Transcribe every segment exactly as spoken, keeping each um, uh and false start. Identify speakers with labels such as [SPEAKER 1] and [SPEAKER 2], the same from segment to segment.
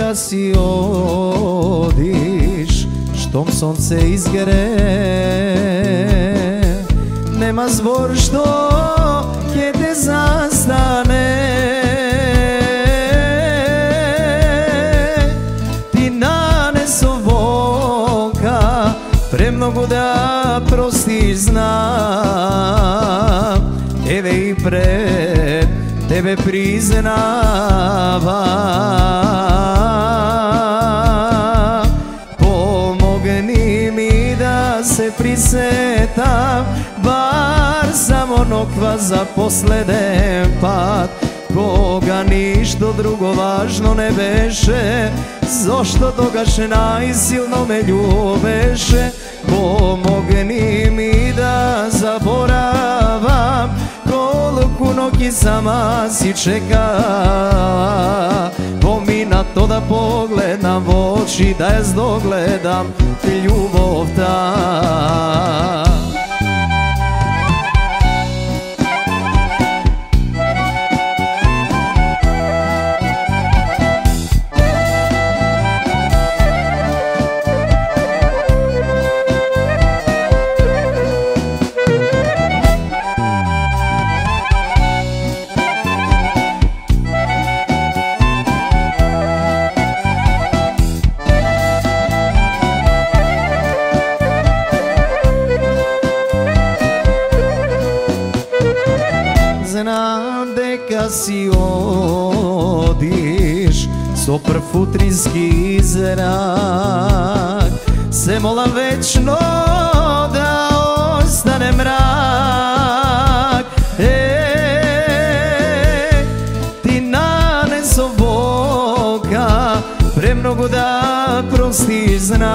[SPEAKER 1] дека си одиш, штом сонце изгре, нема збор што ќе те застане. Ти нанесо волка, премногу да простиш знам, еве и пред тебе признавам. Помогни ми да се присетам, бар само ноква за последен пат, кога ништо друго важно не беше, зошто тогаш најсилно ме љубеше. Помогни ми да заборавам колку ноќи сама си чекала, поминато да погледнам во очи, да ја здогледам љубовта. Знам дека си одиш со прв утрински зрак, се молам вечно да остане мрак. Е, ти нанесо волка, премногу да простиш знам,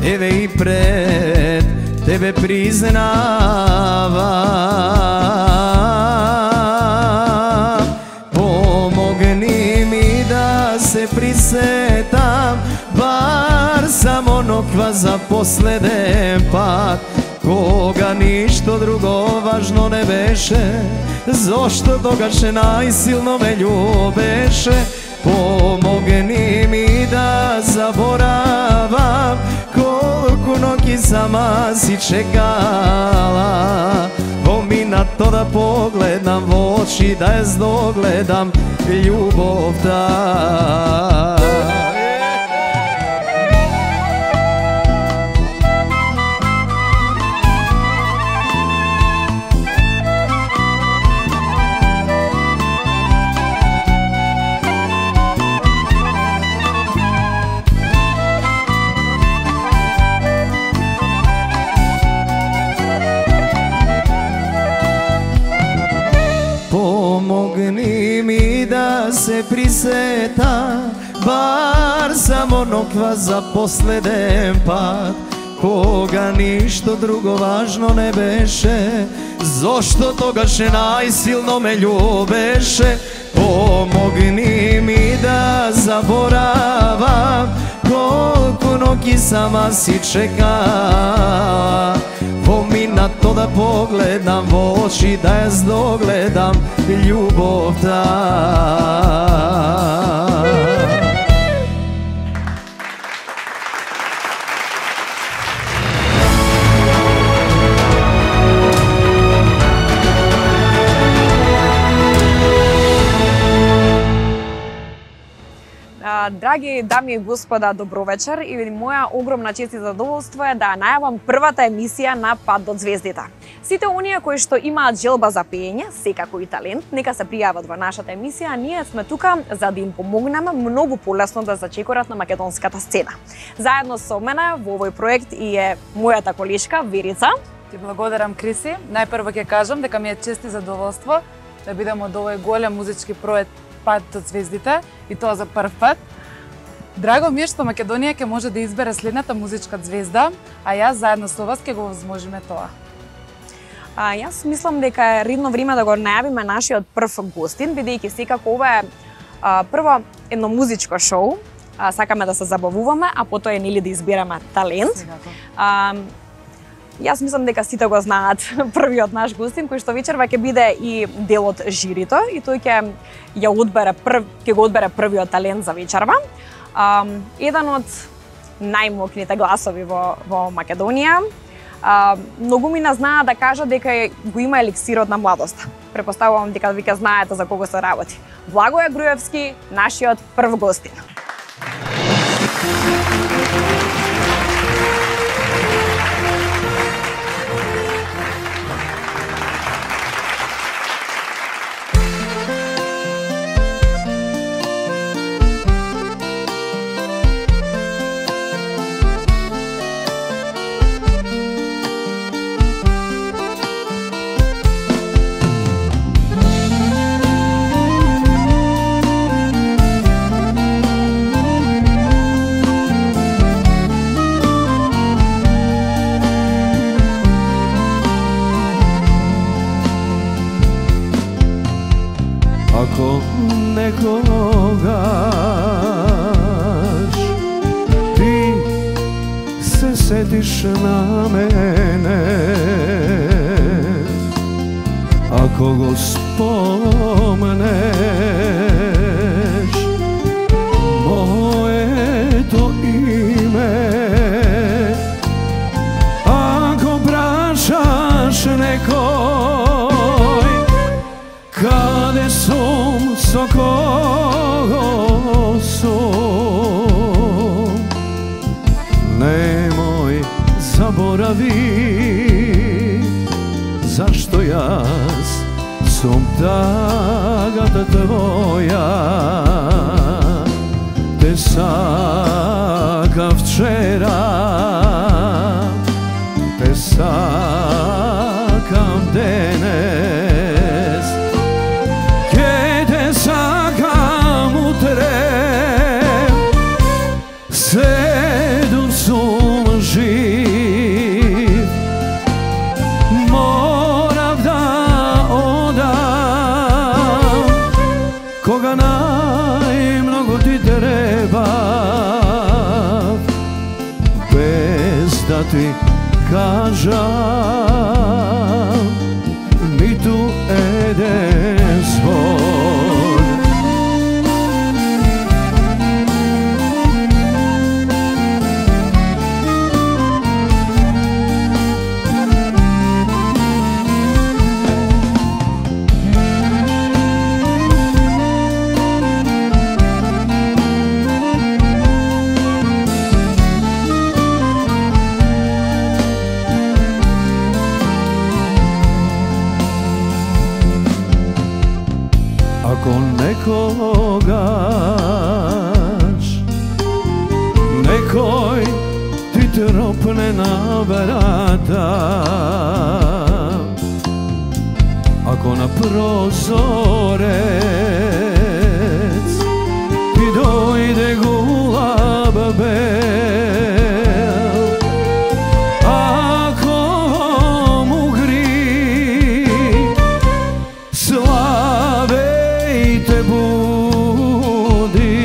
[SPEAKER 1] еве и пред тебе признавам. Помогни ми да се присетам, бар само ноква за последен пат, кога ништо друго важно не беше, зошто тогаш најсилно ме љубеше. Помогни ми да заборавам колку ноќи сама си чекала, поминато да погледнам во очи, да ја здогледам љубовта. Помогни ми да се присетам, бар само ноква за последен пат, кога ништо друго важно не беше, зошто тогаш најсилно ме љубеше. Помогни ми да заборавам колку ноќи сама си чекала, поминато да погледнам во очи, да ја здогледам љубовта.
[SPEAKER 2] Драги дами и господа, добро вечер и моја огромна чест и задоволство е да најавам првата емисија на Пат до звездите. Сите оние кои што имаат желба за пеење, секако и талент, нека се пријават во нашата емисија, ние сме тука за да им помогнеме многу полесно да зачекорат на македонската сцена. Заедно со мене во овој проект и е мојата колешка Верица.
[SPEAKER 3] Ти благодарам, Криси. Најпрво ќе кажам дека ми е чест и задоволство да бидам од овој голем музички проект Пат до звездите и тоа за прв пат. Драго ми е што Македонија ќе може да избере следната музичка звезда, а јас заедно со вас ќе го возможиме тоа.
[SPEAKER 2] А, јас мислам дека е редно време да го најавиме нашиот прв гостин, бидејќи секако ова е а, прво едно музичко шоу, а, сакаме да се забавуваме, а потоа е нели да избираме талент. А, Јас мислам дека сите го знаат првиот наш гостин, кој што вечерва ќе биде и дел од жирито и тој ќе ја одбере прв, ќе го одбере првиот талент за вечерва. А, еден од најмокните гласови во во Македонија. А, многумина знаат да кажат дека го има еликсирот на младоста. Препоставувам дека вика знаете за кого се работи. Благоје Груевски, нашиот прв гостин.
[SPEAKER 1] Ако некогаш ти се сетиш на мене, ако го спомнеш моето име, ако прашаш некој каде сум, со кого сум, немој заборави зашто јас сум тагата твоја. Те сакав вчера, те сакам денес, ке те сакам утре, се дур сум жив. Морав да одам кога најмногу ти требав, без да ти кажам ниту еден збор. Ако некогаш некој ти тропне на врата, ако на прозорец ти дојде гулаб бел, ако му гри славе те буди,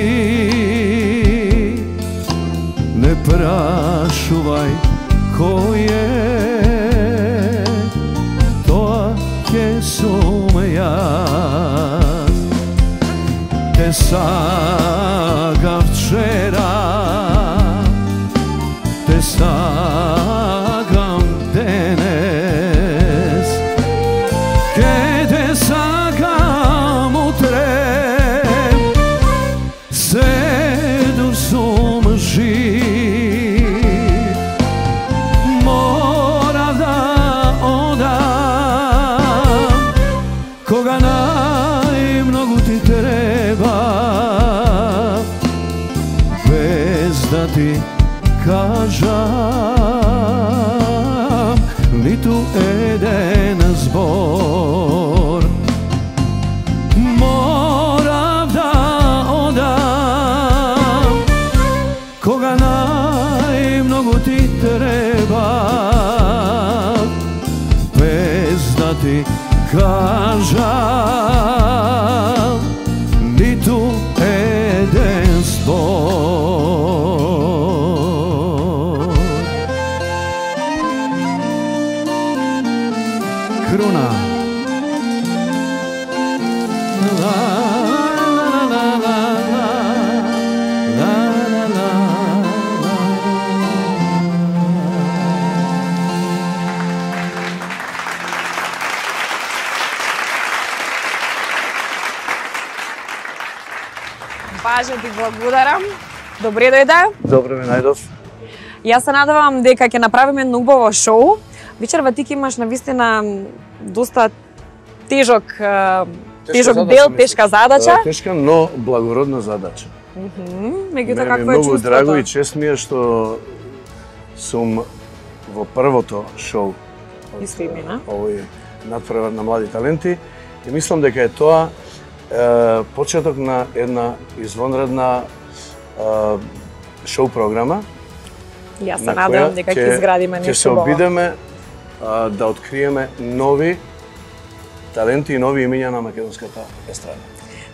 [SPEAKER 1] не прашувај кој е, тоа ќе сум јас. Те сакав вчера, те сакам денес, ке те сакам утре, се дур сум жив. Морав да одам кога најмногу ти треба, без да ти кажам ниту еден збор. Морав да одам кога најмногу ти треба, без да ти кажам ниту еден збор. Бруна.
[SPEAKER 2] Бажа ти благодарам. Добре дојде.
[SPEAKER 4] Добре ме најдов.
[SPEAKER 2] Јас се надевам дека ќе направиме едно убаво шоу. Вечерва ти ќе имаш навистина доста тежок тежок дел, тешка задача.
[SPEAKER 4] Да, тешка, но благородна задача.
[SPEAKER 2] Мхм, меѓутоа
[SPEAKER 4] Мене
[SPEAKER 2] какво е
[SPEAKER 4] многу
[SPEAKER 2] чувството?
[SPEAKER 4] драго и чест ми е што сум во првото шоу од
[SPEAKER 2] Исто имена.
[SPEAKER 4] овој надпревар на млади таленти и мислам дека е тоа е, почеток на една извонредна е, шоу програма.
[SPEAKER 2] Јас се
[SPEAKER 4] на
[SPEAKER 2] надевам
[SPEAKER 4] која
[SPEAKER 2] дека ќе
[SPEAKER 4] ќе-
[SPEAKER 2] изградиме
[SPEAKER 4] Ќе се
[SPEAKER 2] нешто убаво.
[SPEAKER 4] обидеме а, да откриеме нови таленти и нови имиња на македонската естрада.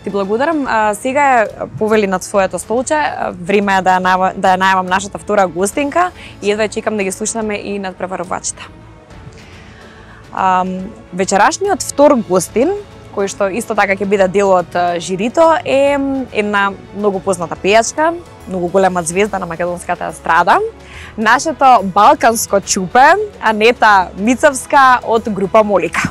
[SPEAKER 2] Ти благодарам. А, сега е повели над своето столче. А, Време е да ја најава- да ја најавам нашата втора гостинка и едва чекам да ги слушнеме и надпреварувачите. А, вечерашниот втор гостин, кој што исто така ќе биде дел од а, жирито, е една многу позната пејачка, многу голема звезда на македонската естрада, нашето балканско чупе, Анета Мицевска од група Молика.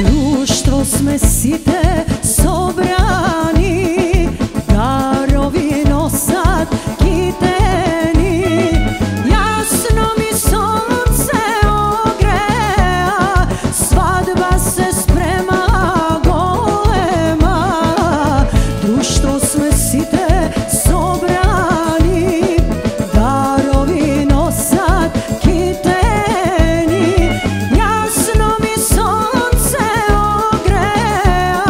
[SPEAKER 5] Друштво сме сите собрани, дарови носат китени. Јасно ми сонце огреа, свадба се спрема голема. Друштво сме сите собрани, дарови носат китени. Јасно ми сонце огреа,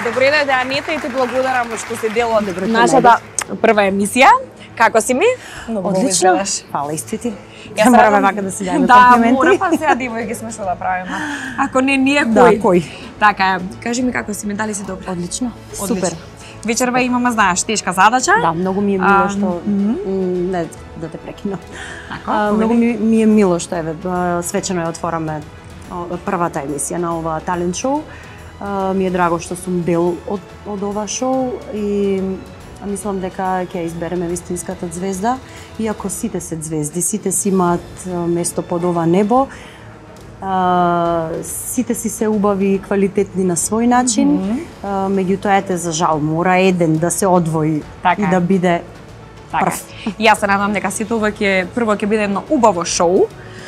[SPEAKER 2] Добре дојде, Анета, и ти благодарам што си дел од нашата прва емисија. Како си ми?
[SPEAKER 6] Много одлично. Фала исти ти.
[SPEAKER 2] Ја
[SPEAKER 6] мораме вака да си дајме
[SPEAKER 2] да,
[SPEAKER 6] комплименти.
[SPEAKER 2] Да, мора, па сега девојки сме што да правиме. Ако не ние, кој?
[SPEAKER 6] Да, кој?
[SPEAKER 2] Така е. Кажи ми како си ми, дали си добро?
[SPEAKER 6] Одлично.
[SPEAKER 2] Одлично.
[SPEAKER 6] Супер.
[SPEAKER 2] Вечерва имаме, знаеш, тешка задача.
[SPEAKER 6] Да, многу ми е мило
[SPEAKER 2] А,
[SPEAKER 6] што
[SPEAKER 2] мгм.
[SPEAKER 6] м, не да те прекинам.
[SPEAKER 2] Така,
[SPEAKER 6] А,
[SPEAKER 2] повели.
[SPEAKER 6] многу ми, ми е мило што еве а, свечено ја отвораме о, првата емисија на ова талент шоу. А, ми е драго што сум дел од од ова шоу и а, мислам дека ќе избереме вистинската звезда, иако сите се звезди, сите си имаат а, место под ова небо. А, сите си се убави и квалитетни на свој начин, mm -hmm. а, меѓутоа ете за жал мора еден да се одвои
[SPEAKER 2] Така
[SPEAKER 6] и
[SPEAKER 2] е.
[SPEAKER 6] да биде
[SPEAKER 2] Така.
[SPEAKER 6] прв.
[SPEAKER 2] Јас се надам дека сите ова ќе прво ќе биде едно убаво шоу.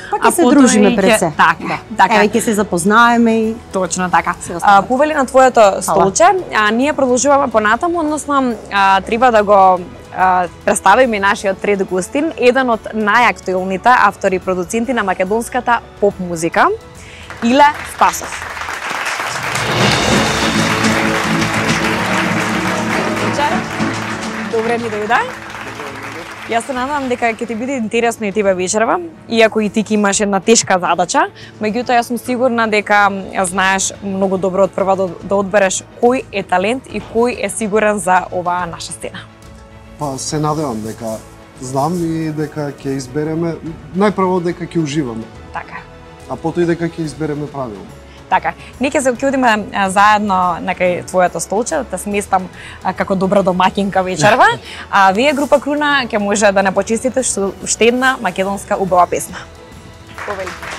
[SPEAKER 6] Па
[SPEAKER 2] а
[SPEAKER 6] ќе се
[SPEAKER 2] потоа
[SPEAKER 6] дружиме
[SPEAKER 2] и
[SPEAKER 6] пред
[SPEAKER 2] ќе-
[SPEAKER 6] се.
[SPEAKER 2] Така, така.
[SPEAKER 6] Еве ќе се запознаеме и
[SPEAKER 2] Точно така.
[SPEAKER 6] Се останува.
[SPEAKER 2] А, повели на твоето столче, а, ние продолжуваме понатаму, односно а, треба да го а, представиме нашиот трет гостин, еден од најактуелните автори и продуценти на македонската поп музика, Иле Спасов. Вечер. Добре ни дојде. Јас се надам дека ќе ти биде интересно и тебе вечерва, иако и ти ќе имаш една тешка задача, меѓутоа јас сум сигурна дека ја знаеш многу добро од прва да, да одбереш кој е талент и кој е сигурен за оваа наша сцена.
[SPEAKER 7] Па се надевам дека знам и дека ќе избереме, најпрво дека ќе уживаме,
[SPEAKER 2] Така.
[SPEAKER 7] а потоа и дека ќе избереме правилно.
[SPEAKER 2] Така, ние ќе се ќе а, заедно на кај твоето столче, да те сместам а, како добра домакинка вечерва, а вие група Круна ќе може да не почистите што уште една македонска убава песна. Повели.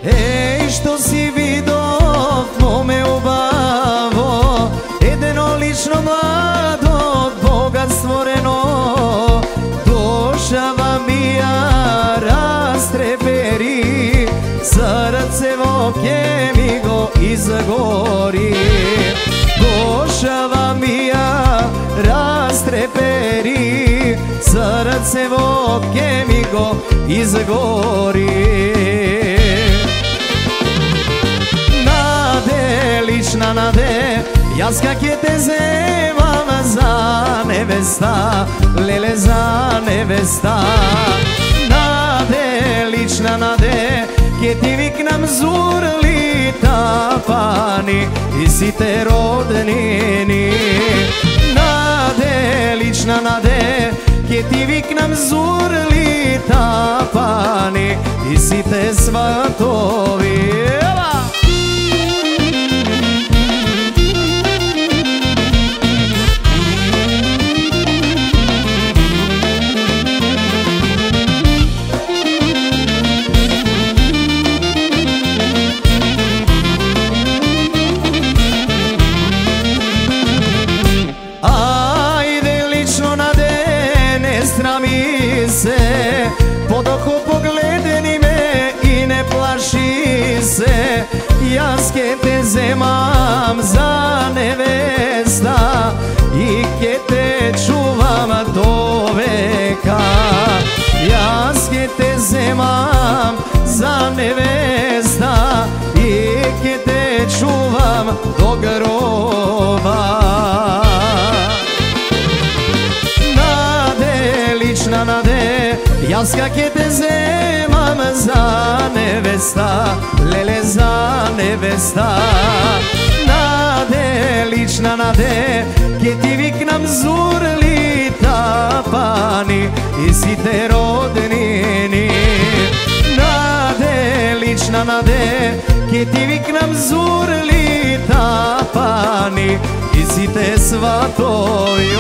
[SPEAKER 1] Еј, што си видов, моме убаво, едено лично младо, од Бога створено, душава ми ја растрепери, срцево ке ми го изгори. Душава ми ја растрепери, срцево ке ми го изгори. Лична наде, јас ка ќе те земам за невеста, леле за невеста. Наде, лична наде, ќе ти викнам зурли тапани и сите роднини. Наде, лична наде, ќе ти викнам зурли тапани и сите сватови. се, подохо погледни ме и не плаши се. Јас ке те земам за невеста и ке те чувам до века. Јас ке те земам за невеста и ке те чувам до гроба. Лична наде, јас ка ке те земам за невеста, леле за невеста. Наде, лична наде, ке ти викнам зурли тапани и сите роднини. Наде, лична наде, ке ти викнам зурли тапани и сите сватови.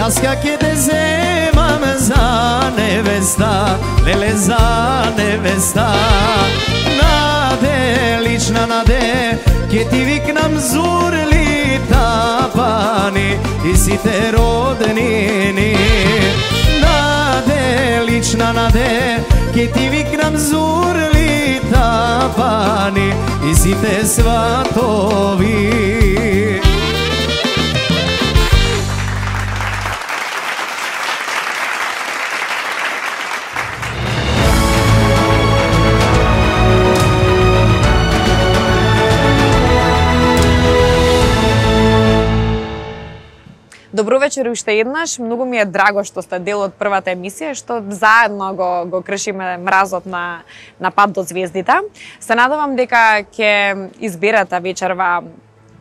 [SPEAKER 1] Јас ка ќе те земам за невеста, леле за невеста. Наде, лична наде, ќе ти викнам зурли тапани и сите роднини. Наде, лична наде, ќе ти викнам зурли тапани и сите сватови.
[SPEAKER 2] Добро вечер уште еднаш. Многу ми е драго што сте дел од првата емисија, што заедно го, го кршиме мразот на, на пат до звездите. Се надевам дека ќе изберете вечерва,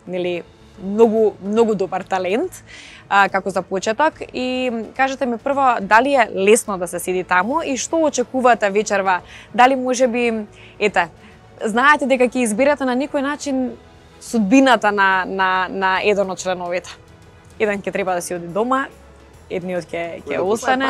[SPEAKER 2] нели, многу, многу добар талент а, како за почеток. И кажете ми прво, дали е лесно да се седи таму и што очекувате вечерва? Дали може би, ете, знаете дека ќе изберете на некој начин судбината на, на, на еден од членовите? Еден ќе треба да си оди дома, едниот ќе ќе остане.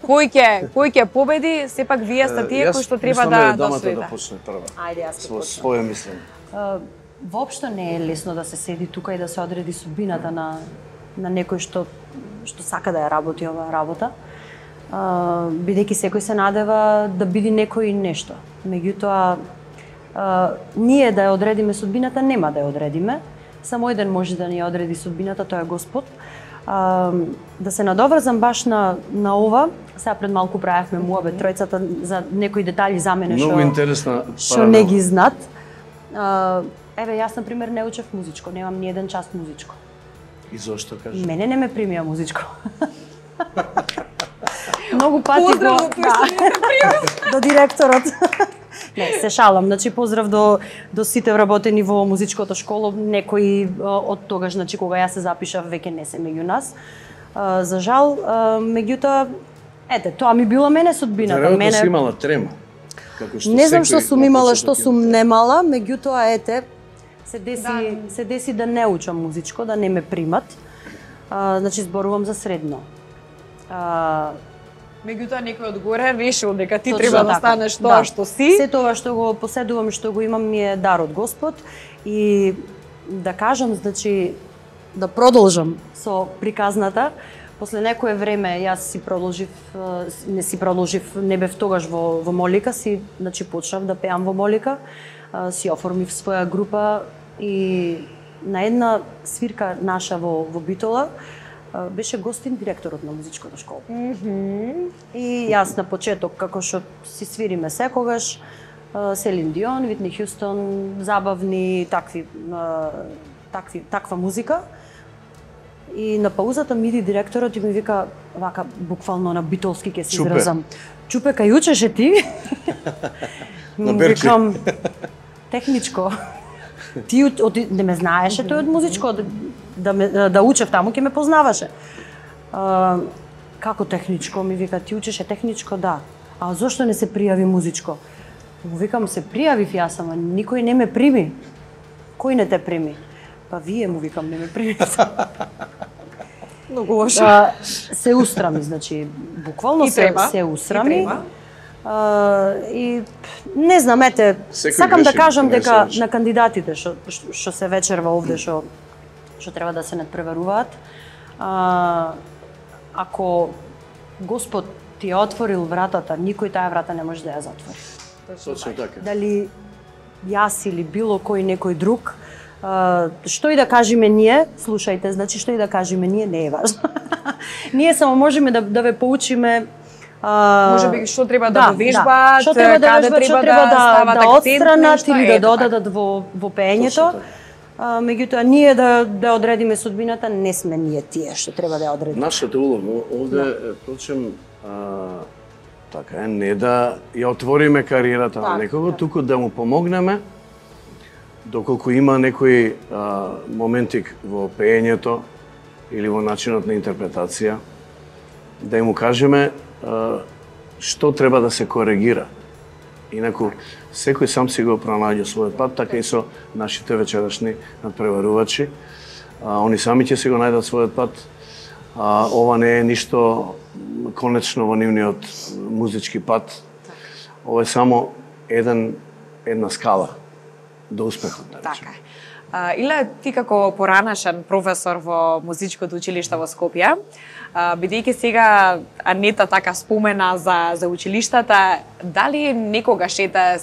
[SPEAKER 2] Кој ќе кој ќе победи, сепак вие сте тие кои што треба да да
[SPEAKER 4] судите. Да почне прва.
[SPEAKER 6] Ајде, јас ќе
[SPEAKER 4] почнам. Со своје мислење.
[SPEAKER 6] Воопшто не е лесно да се седи тука и да се одреди судбината на на некој што што сака да ја работи оваа работа. Бидејќи секој се надева да биде некој нешто. Меѓутоа, ние да ја одредиме судбината нема да ја одредиме. Само еден може да ни ја одреди судбината, тоа е Господ. А, да се надоврзам баш на, на ова, сега пред малку правевме муабет тројцата за некои детали за мене што
[SPEAKER 4] Многу интересна
[SPEAKER 6] што не ги знат. А, еве, јас, например, не учев музичко, немам ни еден час музичко.
[SPEAKER 4] И зошто кажеш?
[SPEAKER 6] Мене не ме примија музичко. Многу пати
[SPEAKER 2] Поздрав
[SPEAKER 6] го...
[SPEAKER 2] до да.
[SPEAKER 6] до директорот. Не, се шалам. Значи, поздрав до, до сите вработени во музичкото школо. Некои од тогаш, значи, кога јас се запишав, веќе не се меѓу нас. А, за жал, а, меѓутоа, ете, тоа ми била мене судбината.
[SPEAKER 4] Веројатно
[SPEAKER 6] мене...
[SPEAKER 4] си имала трема. Како што
[SPEAKER 6] не знам што
[SPEAKER 4] секој
[SPEAKER 6] сум
[SPEAKER 4] на
[SPEAKER 6] имала,
[SPEAKER 4] почеток
[SPEAKER 6] што
[SPEAKER 4] има
[SPEAKER 6] сум
[SPEAKER 4] трема.
[SPEAKER 6] немала, меѓутоа, ете, се деси,
[SPEAKER 2] Да.
[SPEAKER 6] се деси да не учам музичко, да не ме примат. А, значи, зборувам за средно. А,
[SPEAKER 2] Меѓутоа некој одгоре решил дека ти
[SPEAKER 6] Точно
[SPEAKER 2] треба да
[SPEAKER 6] така.
[SPEAKER 2] станеш тоа
[SPEAKER 6] Да.
[SPEAKER 2] што си.
[SPEAKER 6] Се тоа што го поседувам и што го имам ми е дар од Господ и да кажам, значи, да продолжам со приказната. После некое време јас си продолжив, не си продолжив, не бев тогаш во, во Молика, си, значи, почнав да пеам во Молика, си оформив своја група и на една свирка наша во, во Битола, беше гостин директорот на музичката школа.
[SPEAKER 2] Mm -hmm.
[SPEAKER 6] И јас на почеток, како што си свириме секогаш, Селин Дион, Витни Хјустон, забавни, такви, такви, таква музика. И на паузата ми иди директорот и ми вика, вака, буквално на битолски ќе се
[SPEAKER 4] Чупе.
[SPEAKER 6] изразам. Чупе, кај учеше ти?
[SPEAKER 4] На Беркли.
[SPEAKER 6] Викам, техничко. Ти од, од, не ме знаеше тој од музичко, да, да, ме, да учев таму, ќе ме познаваше. А, како техничко, ми вика, ти учеше техничко, да. А зошто не се пријави музичко? Му викам, се пријавив јас, ама никој не ме прими. Кој не те прими? Па вие, му викам, не ме примите.
[SPEAKER 2] Многу лошо.
[SPEAKER 6] А, се устрами, значи, буквално
[SPEAKER 2] И
[SPEAKER 6] се,
[SPEAKER 2] треба.
[SPEAKER 6] се
[SPEAKER 2] И
[SPEAKER 6] устрами.
[SPEAKER 2] треба.
[SPEAKER 6] А, и не знам, ете,
[SPEAKER 4] Секој
[SPEAKER 6] сакам да
[SPEAKER 4] греши,
[SPEAKER 6] кажам
[SPEAKER 4] не
[SPEAKER 6] дека
[SPEAKER 4] се
[SPEAKER 6] на кандидатите што што- што се вечерва овде што што треба да се надпреваруваат, а, ако Господ ти е отворил вратата, никој таа врата не може да ја затвори.
[SPEAKER 4] Точно така.
[SPEAKER 6] Дали јас или било кој некој друг, а, што и да кажеме ние, слушајте, значи што и да кажеме ние не е важно. Ние само можеме да да ве поучиме. А,
[SPEAKER 2] Може би што треба да довежбаат,
[SPEAKER 6] што треба да
[SPEAKER 2] каде
[SPEAKER 6] вежбаат,
[SPEAKER 2] треба
[SPEAKER 6] што треба
[SPEAKER 2] да
[SPEAKER 6] да,
[SPEAKER 2] стават
[SPEAKER 6] да
[SPEAKER 2] акцент,
[SPEAKER 6] отстранат
[SPEAKER 2] нешто,
[SPEAKER 6] или да
[SPEAKER 2] ето така.
[SPEAKER 6] додадат во во пеењето. А, меѓутоа ние да да одредиме судбината, не сме ние тие што треба да ја одредиме.
[SPEAKER 4] Нашата улога овде е почем а, така е, не да ја отвориме кариерата на
[SPEAKER 6] Така,
[SPEAKER 4] некого,
[SPEAKER 6] така.
[SPEAKER 4] туку да му помогнеме доколку има некои а, моментик во пеењето или во начинот на интерпретација, да му кажеме а, што треба да се коригира. Инаку, секој сам си го пронаѓа својот пат, така и со нашите вечерашни надпреварувачи. А, они сами ќе си го најдат својот пат. а, ова не е ништо конечно во нивниот музички пат. Ова е само еден една скала до успехот, да речем.
[SPEAKER 2] Така. А, Иле, ти како поранешен професор во музичкото училиште во Скопје, а, бидејќи сега Анета така спомена за за училиштата, дали некогаш ете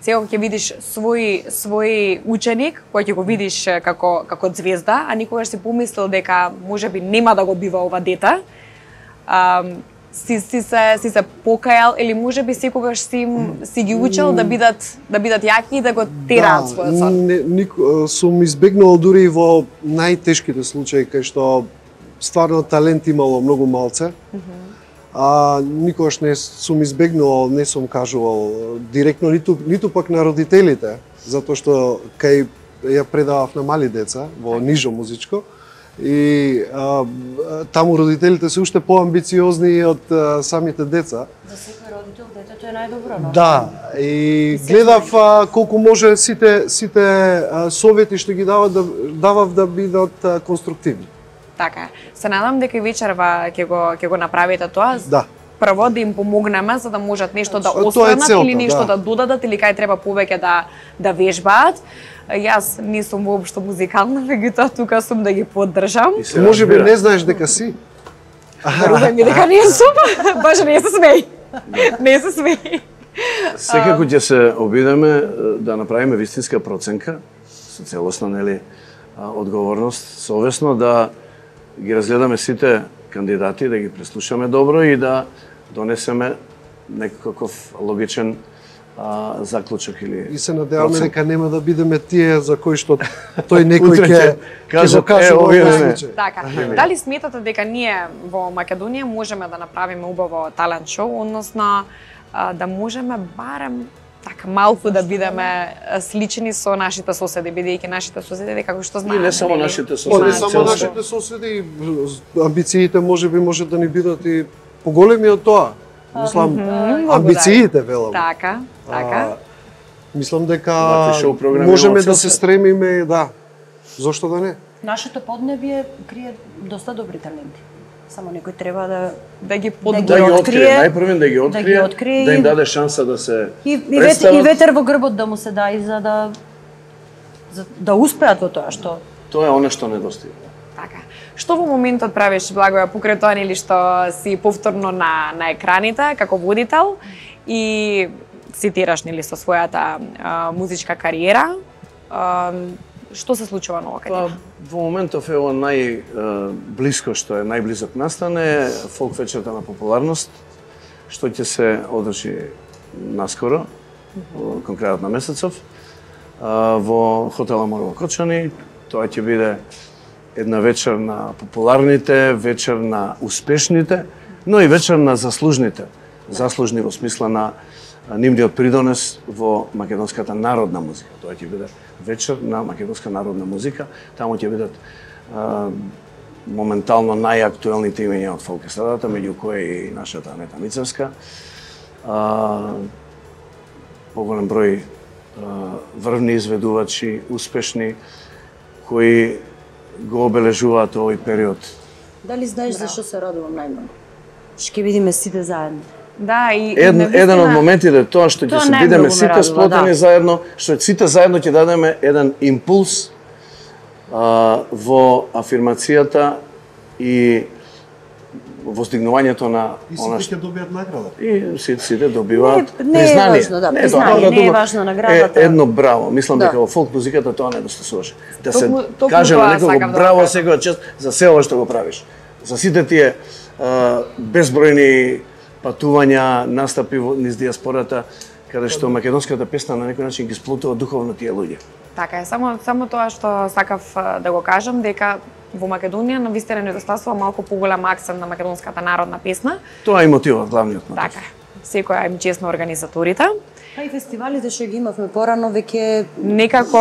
[SPEAKER 2] сега ќе видиш свој свој ученик, кој ќе го видиш како како звезда, а никогаш си помислил дека можеби нема да го бива ова дете? А, си си се си се покајал или можеби секогаш си си ги учел да бидат да бидат јаки и да го тераат
[SPEAKER 7] Да,
[SPEAKER 2] својот сон?
[SPEAKER 7] не, ник, сум избегнал дури и во најтешките случаи кај што стварно талент имало многу малце. А никогаш не сум избегнувал, не сум кажувал директно ниту ниту пак на родителите, затоа што кај ја предавав на мали деца во нижо музичко и а, таму родителите се уште поамбициозни од а, самите деца.
[SPEAKER 6] За секој родител детето е најдобро, но
[SPEAKER 7] Да, и гледав а, колку може сите сите а, совети што ги давав да давав да бидат а, конструктивни.
[SPEAKER 2] Така е. Се надам дека и вечерва ќе го ќе го направите тоа.
[SPEAKER 7] Да.
[SPEAKER 2] Прво да им помогнеме за да можат нешто да
[SPEAKER 7] Тоа е
[SPEAKER 2] останат
[SPEAKER 7] целта,
[SPEAKER 2] или нешто
[SPEAKER 7] да.
[SPEAKER 2] да додадат или кај треба повеќе да да вежбаат. Јас не сум воопшто музикална, меѓутоа тука сум да ги поддржам.
[SPEAKER 4] И се
[SPEAKER 7] Може би
[SPEAKER 4] разбира.
[SPEAKER 7] не знаеш дека си.
[SPEAKER 2] Верувај ми дека не сум. Баш не се смеј. Не се смеј.
[SPEAKER 4] Секако ќе се обидеме е, да направиме вистинска проценка со целосна, нели, а, одговорност, совесно да ги разгледаме сите кандидати, да ги преслушаме добро и да донесеме некаков логичен а, заклучок или
[SPEAKER 7] И се надеваме
[SPEAKER 4] процен.
[SPEAKER 7] дека нема да бидеме тие за кои што тој некој
[SPEAKER 4] Утре
[SPEAKER 7] ќе
[SPEAKER 4] ќе
[SPEAKER 7] ќе
[SPEAKER 4] кажат,
[SPEAKER 7] го каже
[SPEAKER 4] е,
[SPEAKER 7] во
[SPEAKER 4] овие
[SPEAKER 7] овој
[SPEAKER 4] не.
[SPEAKER 7] случај.
[SPEAKER 2] Така. Дали сметате дека ние во Македонија можеме да направиме убаво талент шоу, односно а, да можеме барем така малку да бидеме а, слични со нашите соседи, бидејќи нашите соседи како што
[SPEAKER 4] И
[SPEAKER 2] знаеме.
[SPEAKER 4] не само
[SPEAKER 2] нели?
[SPEAKER 4] нашите
[SPEAKER 7] Па
[SPEAKER 4] соседи,
[SPEAKER 7] не
[SPEAKER 2] Знаат
[SPEAKER 7] само
[SPEAKER 4] цел
[SPEAKER 7] нашите соседи, амбициите може би може да ни бидат и поголеми од тоа. Мислам, амбициите велам.
[SPEAKER 2] Така, така.
[SPEAKER 7] А, Мислам дека
[SPEAKER 4] Вакви шоу програми
[SPEAKER 7] можеме
[SPEAKER 4] имаат
[SPEAKER 7] да
[SPEAKER 4] цел
[SPEAKER 7] се
[SPEAKER 4] се.
[SPEAKER 7] стремиме, да. Зошто да не?
[SPEAKER 6] нашето поднебие крие доста добри таленти. Само некој треба да
[SPEAKER 2] Да ги
[SPEAKER 6] Да
[SPEAKER 2] под...
[SPEAKER 6] ги
[SPEAKER 4] да ги открие,
[SPEAKER 6] открие,
[SPEAKER 4] најпрвен да ги
[SPEAKER 6] да ги
[SPEAKER 4] открие,
[SPEAKER 6] открие
[SPEAKER 4] да
[SPEAKER 6] и-
[SPEAKER 4] им даде шанса да се
[SPEAKER 6] и, и, ветер,
[SPEAKER 4] представат.
[SPEAKER 6] и ветер во грбот да му се даде за да за да успеат во тоа што
[SPEAKER 4] Тоа е она што недостига.
[SPEAKER 2] Така. Што во моментот правиш, Благоја, покрај тоа нели што си повторно на на екраните како водител и цитираш нели со својата а, музичка кариера, а, што се случува ново кај
[SPEAKER 4] Па,
[SPEAKER 2] тебе?
[SPEAKER 4] во моментов е ова најблиско што е најблизок настане, фолк вечерта на популарност, што ќе се одржи наскоро, во- кон крајот на месецов, а, во хотела Морово Кочани. Тоа ќе биде една вечер на популарните, вечер на успешните, но и вечер на заслужните. Заслужни во смисла на а, нивниот придонес во македонската народна музика. Тоа ќе биде вечер на македонска народна музика. Таму ќе бидат а, моментално најактуелните имења од фолк естрадата, меѓу кои и нашата Анета Мицевска. А, поголем број а, врвни изведувачи, успешни, кои го обележуваат овој период.
[SPEAKER 6] дали знаеш за што се радувам најмногу? Ќе видиме сите заедно.
[SPEAKER 2] Да, и, и
[SPEAKER 4] Ед,
[SPEAKER 2] навистина-
[SPEAKER 4] еден од моментите е тоа што ќе
[SPEAKER 6] Тоа
[SPEAKER 4] се
[SPEAKER 6] најмногу
[SPEAKER 4] бидеме
[SPEAKER 6] ме
[SPEAKER 4] сите
[SPEAKER 6] радува,
[SPEAKER 4] сплотени
[SPEAKER 6] да.
[SPEAKER 4] заедно, што сите заедно ќе дадеме еден импулс а, во афирмацијата и воздигнувањето на
[SPEAKER 7] И
[SPEAKER 4] она
[SPEAKER 7] сите
[SPEAKER 4] што
[SPEAKER 7] ќе добијат награда.
[SPEAKER 4] и сите, сите добиваат
[SPEAKER 6] Не- не е
[SPEAKER 4] признание.
[SPEAKER 6] важно, да,
[SPEAKER 4] Не,
[SPEAKER 6] признание,
[SPEAKER 4] добро,
[SPEAKER 6] не е
[SPEAKER 4] добро.
[SPEAKER 6] важно наградата.
[SPEAKER 4] Е, едно браво. Мислам
[SPEAKER 6] Да.
[SPEAKER 4] дека во фолк музиката тоа недостасуваше. Да се
[SPEAKER 2] Токму- токму
[SPEAKER 4] каже
[SPEAKER 2] тоа
[SPEAKER 4] на некого
[SPEAKER 2] сакам да
[SPEAKER 4] браво
[SPEAKER 2] кажам.
[SPEAKER 4] секоја чест за се ова што го правиш. За сите тие а, безбројни патувања, настапи во низ диаспората, каде што македонската песна на некој начин ги сплотува духовно тие луѓе.
[SPEAKER 2] Така е, само само тоа што сакав а, да го кажам дека во Македонија навистина недостасува малку поголем акцент на македонската народна песна.
[SPEAKER 4] Тоа е мотивот, главниот мотив.
[SPEAKER 2] Така, секоја им честно организаторите.
[SPEAKER 6] Па и фестивалите што ги имавме порано веќе
[SPEAKER 2] Некако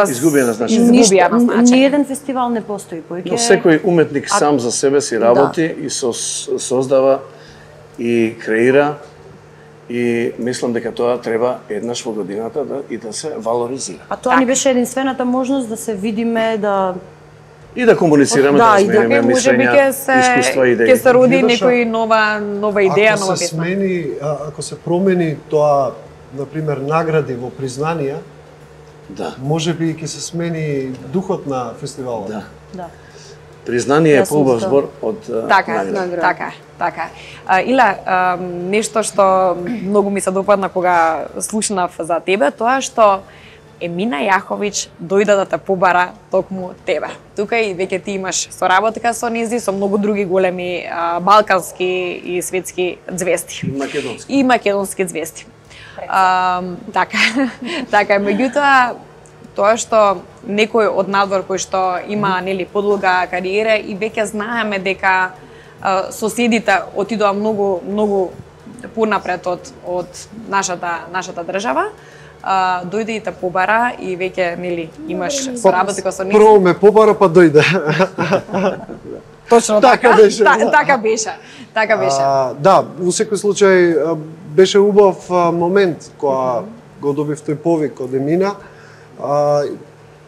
[SPEAKER 4] Изгубија на значење.
[SPEAKER 2] Изгубија на
[SPEAKER 6] Ни
[SPEAKER 2] значење.
[SPEAKER 6] еден фестивал не постои, поиќе
[SPEAKER 4] Но секој уметник
[SPEAKER 6] А-
[SPEAKER 4] сам за себе си работи и со, создава и креира и мислам дека тоа треба еднаш во годината да и да се валоризира.
[SPEAKER 6] А тоа ни беше единствената можност да се видиме, да
[SPEAKER 4] И да комуницираме,
[SPEAKER 2] да,
[SPEAKER 4] да
[SPEAKER 2] и
[SPEAKER 4] смениме
[SPEAKER 2] дека можеби
[SPEAKER 4] мислења,
[SPEAKER 2] ќе се
[SPEAKER 4] искуства и идеи.
[SPEAKER 2] ќе се роди
[SPEAKER 7] Видош,
[SPEAKER 2] некој нова нова идеја,
[SPEAKER 7] ако
[SPEAKER 2] нова
[SPEAKER 7] се
[SPEAKER 2] песна.
[SPEAKER 7] смени, а, ако се промени тоа, например, награди во признанија,
[SPEAKER 4] Да.
[SPEAKER 7] може би ќе се смени духот на фестивалот.
[SPEAKER 4] Да.
[SPEAKER 6] Да.
[SPEAKER 4] Признание е
[SPEAKER 6] Јас сум
[SPEAKER 4] поубав
[SPEAKER 6] за тоа.
[SPEAKER 4] збор од а,
[SPEAKER 2] Така, е,
[SPEAKER 4] награда.
[SPEAKER 2] така, е, така. е. А, Ила, а, нешто што многу ми се допадна кога слушнав за тебе, тоа што Емина Јаховиќ дојде да те побара токму тебе. Тука и веќе ти имаш соработка со низи, со многу други големи а, балкански и светски звезди.
[SPEAKER 4] И македонски.
[SPEAKER 2] И македонски звезди. А, така, така, меѓутоа, тоа што некој од надвор кој што има нели подлога кариера и веќе знаеме дека а, соседите отидоа многу многу понапред од од нашата нашата држава, а, дојде и те побара и веќе нели имаш соработка со нив.
[SPEAKER 7] Прво ме побара, па дојде.
[SPEAKER 2] Точно
[SPEAKER 7] така
[SPEAKER 2] така.
[SPEAKER 7] беше,
[SPEAKER 2] Та-
[SPEAKER 7] да.
[SPEAKER 2] Така беше. Така беше.
[SPEAKER 7] А, да, во секој случај а, беше убав а, момент кога го добив тој повик од Емина. А,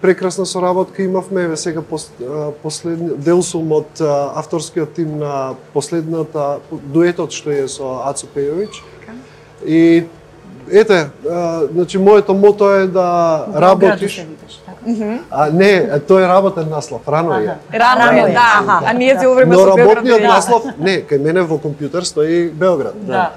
[SPEAKER 7] прекрасна соработка имавме, еве сега пос, а, последни дел сум од а, авторскиот тим на последната дуетот што е со Ацо Пејовиќ. И ете, а, значи моето мото е да работиш. А не, тој е работен наслов, рано е.
[SPEAKER 2] Рано
[SPEAKER 6] Рано
[SPEAKER 2] е,
[SPEAKER 6] е,
[SPEAKER 2] да.
[SPEAKER 6] аха.
[SPEAKER 2] А ние се време
[SPEAKER 7] Но
[SPEAKER 2] со Белград.
[SPEAKER 7] работниот
[SPEAKER 2] да.
[SPEAKER 7] наслов, не, кај мене во компјутер стои Белград.
[SPEAKER 6] Да.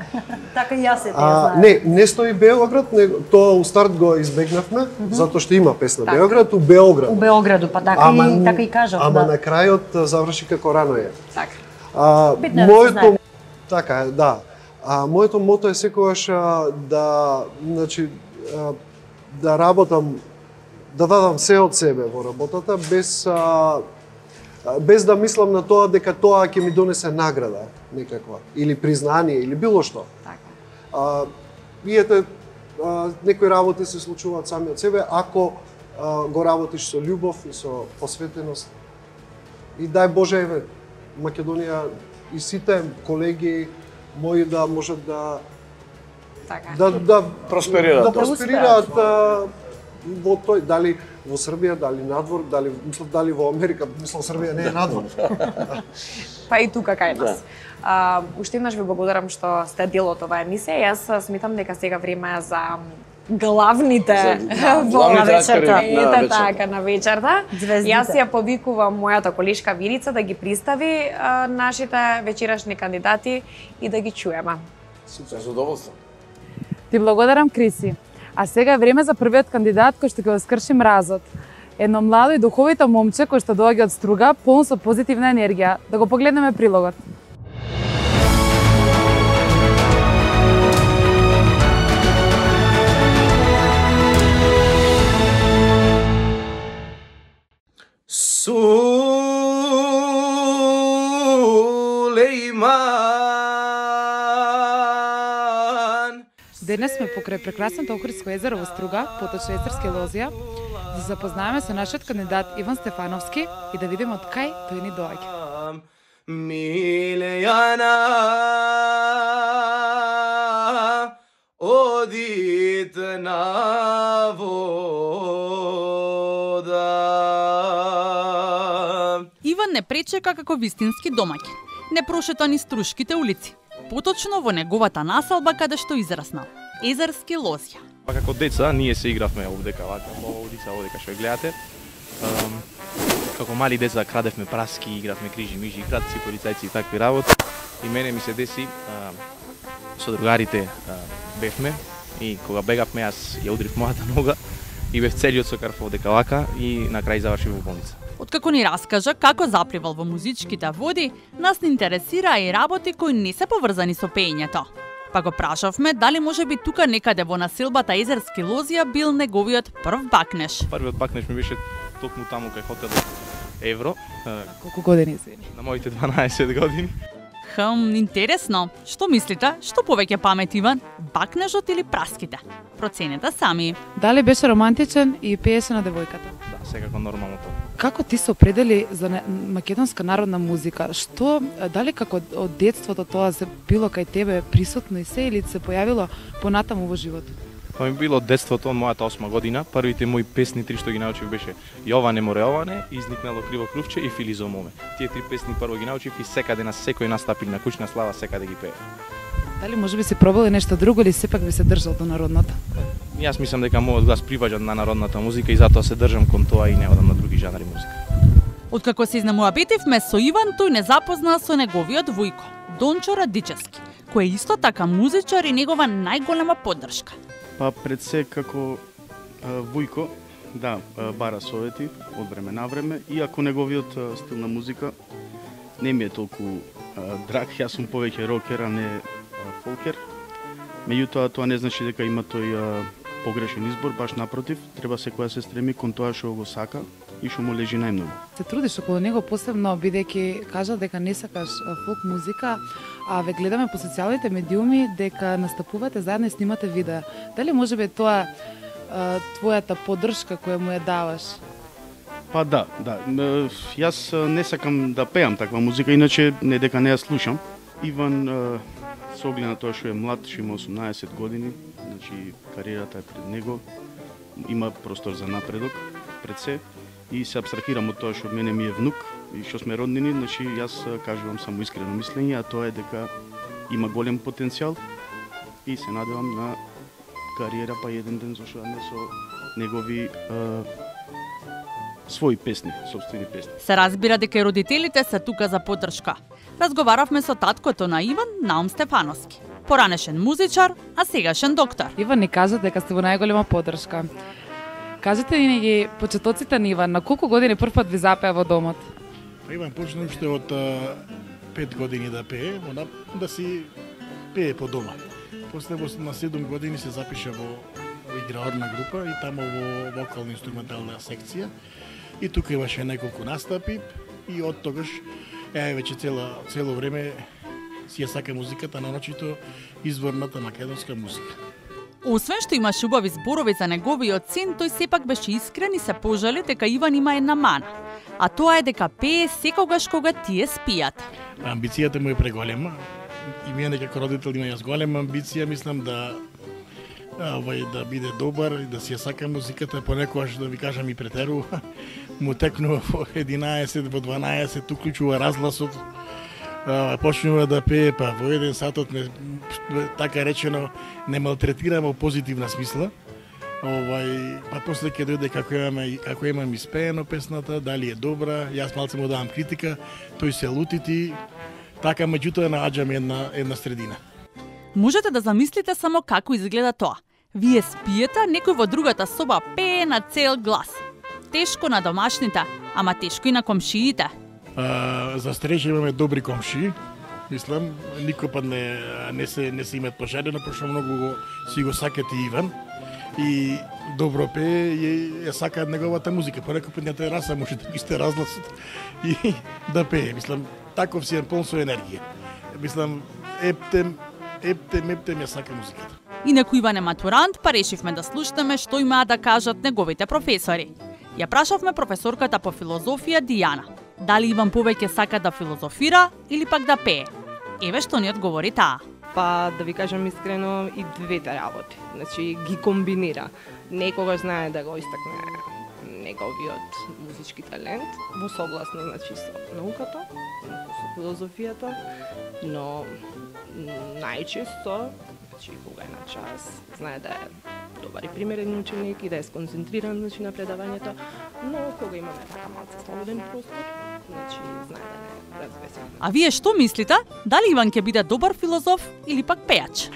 [SPEAKER 6] Така и јас се те
[SPEAKER 7] А,
[SPEAKER 6] знаев.
[SPEAKER 7] не, не стои Белград, него тоа у старт го избегнавме, затоа што има песна
[SPEAKER 2] Така.
[SPEAKER 7] Белград у Белград.
[SPEAKER 6] У Београду, па така
[SPEAKER 7] Ама,
[SPEAKER 6] и така и кажав,
[SPEAKER 7] ама
[SPEAKER 6] да.
[SPEAKER 7] на крајот а, заврши како рано е.
[SPEAKER 2] Така.
[SPEAKER 7] А,
[SPEAKER 6] Битно е да се
[SPEAKER 7] моето
[SPEAKER 6] знае.
[SPEAKER 7] така е, да. А моето мото е секогаш а, да, значи, а, да работам, да дадам се од себе во работата без а, а, без да мислам на тоа дека тоа ќе ми донесе награда некаква или признание или било што.
[SPEAKER 2] Така.
[SPEAKER 7] А, и ете, а, некои работи се случуваат сами од себе ако а, го работиш со љубов и со посветеност. И дај Боже, еве, Македонија и сите колеги мои да можат да
[SPEAKER 2] Така.
[SPEAKER 7] да да
[SPEAKER 4] Просперираат.
[SPEAKER 7] да просперираат а, во тој, дали во Србија, дали надвор, дали мислам дали во Америка, мислам Србија не е надвор.
[SPEAKER 2] Па и тука кај нас. А, уште еднаш ви благодарам што сте дел од оваа емисија. Јас сметам дека сега време е за главните
[SPEAKER 4] За-
[SPEAKER 2] во
[SPEAKER 4] главните
[SPEAKER 2] вечерта.
[SPEAKER 4] актери на
[SPEAKER 2] Ете
[SPEAKER 4] вечерта.
[SPEAKER 2] така на вечерта.
[SPEAKER 6] Звездите.
[SPEAKER 2] Јас ја повикувам мојата колешка Вирица да ги представи а, нашите вечерашни кандидати и да ги чуеме.
[SPEAKER 4] Со задоволство.
[SPEAKER 3] Ти благодарам, Криси. А сега е време за првиот кандидат кој што ќе го скрши мразот. Едно младо и духовито момче кој што доаѓа од Струга, полн со позитивна енергија. Да го погледнеме прилогот.
[SPEAKER 4] Сулейман.
[SPEAKER 3] Денес сме покрај прекрасното Охридско езеро во Струга, поточно Езерски лозија, да се запознаеме со нашиот кандидат Иван Стефановски и да видиме од кај тој ни доаѓа.
[SPEAKER 4] Милејана одит на вода.
[SPEAKER 8] Иван не пречека како вистински домаќин. Не прошета ни струшките улици. Поточно во неговата населба каде што израснал. Езерски лозја.
[SPEAKER 9] Па како деца ние се игравме овдека вака, ова улица овдека што ја гледате. Ам, како мали деца крадевме праски, игравме крижи мижи, кратци, полицајци и такви работи. И мене ми се деси ам, со другарите а, бевме и кога бегавме јас ја удрив мојата нога и бев целиот со крв овдека вака и на крај завршив во болница.
[SPEAKER 8] Откако ни раскажа како запливал во музичките води, нас не интересира и работи кои не се поврзани со пеењето. Па го прашавме дали може би тука некаде во населбата Езерски лозија бил неговиот прв бакнеш.
[SPEAKER 9] Првиот бакнеш ми беше токму таму кај хотелот Евро, а,
[SPEAKER 3] Колку години се?
[SPEAKER 9] на моите дванаесет години.
[SPEAKER 8] Хм, интересно. Што мислите? Што повеќе памет Иван? Бакнежот или праските? Проценете сами.
[SPEAKER 3] Дали беше романтичен и пееше на девојката?
[SPEAKER 9] Да, секако нормално тоа.
[SPEAKER 3] Како ти се определи за не- македонска народна музика? Што, дали како од детството тоа се било кај тебе присутно и се или се појавило понатаму во животот?
[SPEAKER 9] Тоа ми било детството, мојата осма година. Првите мои песни три што ги научив беше Јоване море Јоване, Изникнало криво крувче и Филизо моме. Тие три песни прво ги научив и секаде на секој настапи на кучна слава секаде ги пеев.
[SPEAKER 3] Дали може би си пробали нешто друго или сепак би се држал до народната?
[SPEAKER 9] Јас мислам дека мојот глас приважа на народната музика и затоа се држам кон тоа и не одам на други жанри музика.
[SPEAKER 8] Откако се изнемоабитивме со Иван, тој не запозна со неговиот војко, Дончо Радичевски, кој е исто така музичар и негова најголема поддршка.
[SPEAKER 10] Па пред се како а, војко, да, а, бара совети од време на време, иако неговиот а, стил на музика не ми е толку а, драг, јас сум повеќе рокер, а не а, фолкер. Меѓутоа тоа не значи дека има тој а, погрешен избор, баш напротив, треба секоја се стреми кон тоа што го сака и што му лежи најмногу.
[SPEAKER 3] Се трудиш околу него посебно, бидејќи кажа дека не сакаш фолк музика, а ве гледаме по социјалните медиуми дека настапувате заедно и снимате видеа. Дали може би тоа а, твојата поддршка која му ја даваш?
[SPEAKER 10] Па да, да. Јас не сакам да пеам таква музика, иначе не дека не ја слушам. Иван со оглед на тоа што е млад, што има осумнаесет години, значи кариерата е пред него, има простор за напредок пред се и се абстрахирам од тоа што мене ми е внук и што сме роднини, значи јас кажувам само искрено мислење, а тоа е дека има голем потенцијал и се надевам на кариера па еден ден зашто не со негови а, своји песни, собствени песни.
[SPEAKER 8] Се разбира дека и родителите се тука за поддршка. Разговаравме со таткото на Иван, Наум Стефановски. Поранешен музичар, а сегашен доктор.
[SPEAKER 3] Иван ни кажа дека сте во најголема поддршка. Кажете ни ги почетоците на Иван, на колку години прв пат ви запеа во домот?
[SPEAKER 11] Иван почна уште од пет години да пее, она да си пее по дома. После на седум години се запиша во, во играорна група и тамо во вокално-инструментална секција. И тука имаше неколку настапи и од тогаш е веќе цело цело време си ја сака музиката, наочито изворната македонска музика.
[SPEAKER 8] Освен што имаше убави зборови за неговиот син, тој сепак беше искрен и се пожали дека Иван има една мана, а тоа е дека пее секогаш кога тие спијат.
[SPEAKER 11] Амбицијата му е преголема и мене како родител има јас голема амбиција, мислам да овај да биде добар и да си ја сака музиката, понекогаш да ви кажам и претерува. Му текнува во единаесет, во дванаесет, уклучува разгласот. Почнува да пее, па во еден сатот не, така речено не малтретирам во позитивна смисла. Овај, па после ќе дојде како имаме како имам испеено песната, дали е добра, јас малце му давам критика, тој се лутити, така меѓутоа нааѓам една една средина.
[SPEAKER 8] Можете да замислите само како изгледа тоа. Вие спиете, некој во другата соба пее на цел глас. Тешко на домашните, ама тешко и на комшиите.
[SPEAKER 11] А, за среќа имаме добри комшии. Мислам, никој пат не, не се не се имат пожадено, пошто многу го, си го сакат и Иван. И добро пее и ја сакаат неговата музика. Понекој пат на тераса може да ги сте разгласот и да пее. Мислам, таков си е полн со енергија. Мислам, ептем, ептем, ептем ја сака музиката.
[SPEAKER 8] Инаку Иван е матурант, па решивме да слушнеме што имаа да кажат неговите професори. Ја прашавме професорката по филозофија Дијана. Дали Иван повеќе сака да филозофира или пак да пее? Еве што ни одговори таа.
[SPEAKER 12] Па да ви кажам искрено и двете работи. Значи ги комбинира. Некогаш знае да го истакне неговиот музички талент во согласно значи со науката, со филозофијата, но најчесто значи кога е на час, знае да е добар и примерен ученик и да е сконцентриран значи на предавањето, но кога имаме така малце слободен простор, значи знае да не развесен.
[SPEAKER 8] А вие што мислите? Дали Иван ќе биде добар филозоф или пак пејач?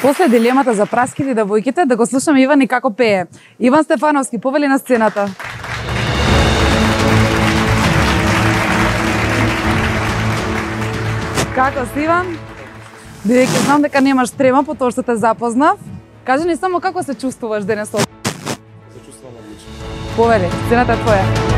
[SPEAKER 3] После дилемата за праските и девојките, да го слушаме Иван и како пее. Иван Стефановски, повели на сцената. Како си, Иван? Бидејќи знам дека немаш трема по тоа што те запознав, кажи ни само како се чувствуваш денес овде.
[SPEAKER 13] Се чувствувам одлично.
[SPEAKER 3] Повели, сцената е твоја.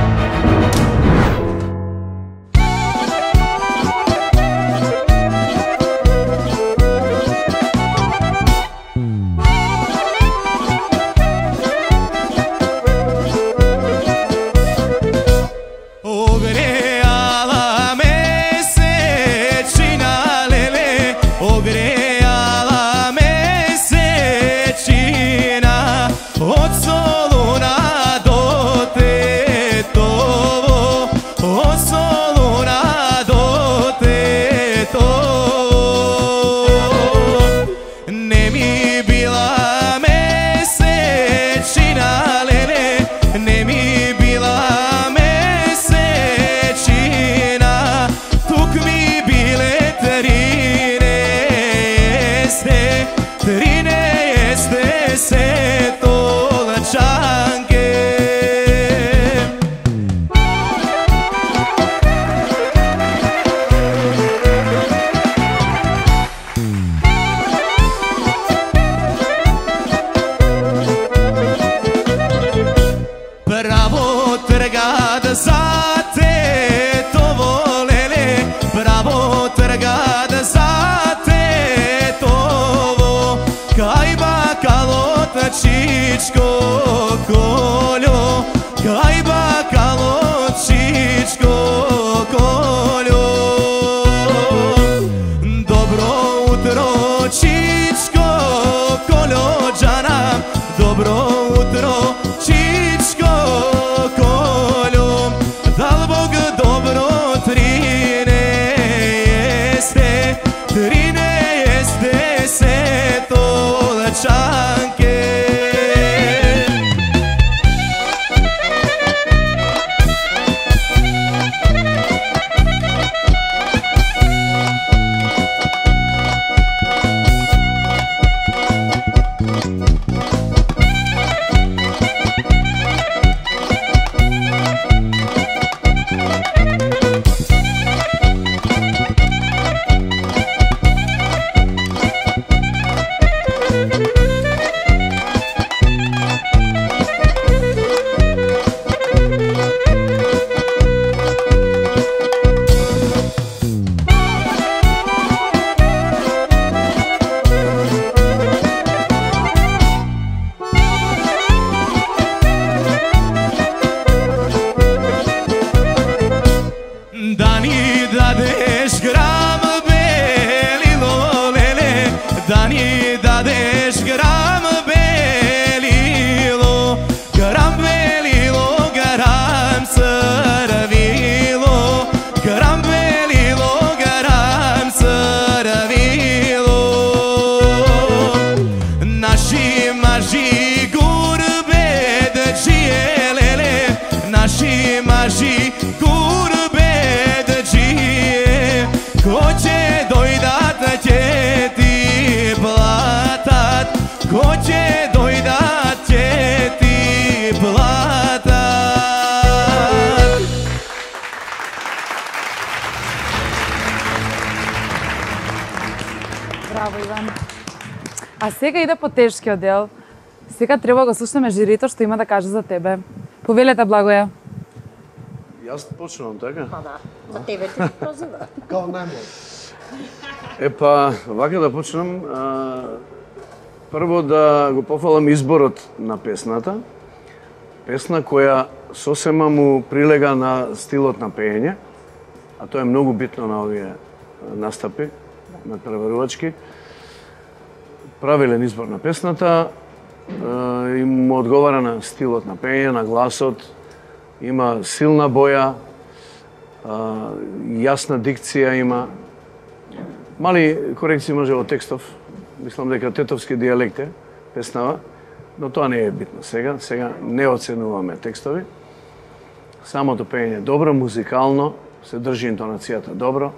[SPEAKER 3] А сега иде по тешкиот дел. Сега треба го слушнеме жирито што има да каже за тебе. Повелете, Благоја.
[SPEAKER 4] Јас почнувам, така?
[SPEAKER 6] Па да, за тебе ти прозива.
[SPEAKER 7] Као најмлад.
[SPEAKER 4] Епа, вака да почнам. А, прво да го пофалам изборот на песната. Песна која сосема му прилега на стилот на пеење, а тоа е многу битно на овие настапи, на преварувачки. Правилен избор на песната, и му одговара на стилот на пеење, на гласот, има силна боја, јасна дикција има. Мали корекции може во текстов, мислам дека тетовски дијалект е песнава, но тоа не е битно сега. Сега не оценуваме текстови. Самото пеење е добро, музикално, се држи интонацијата добро.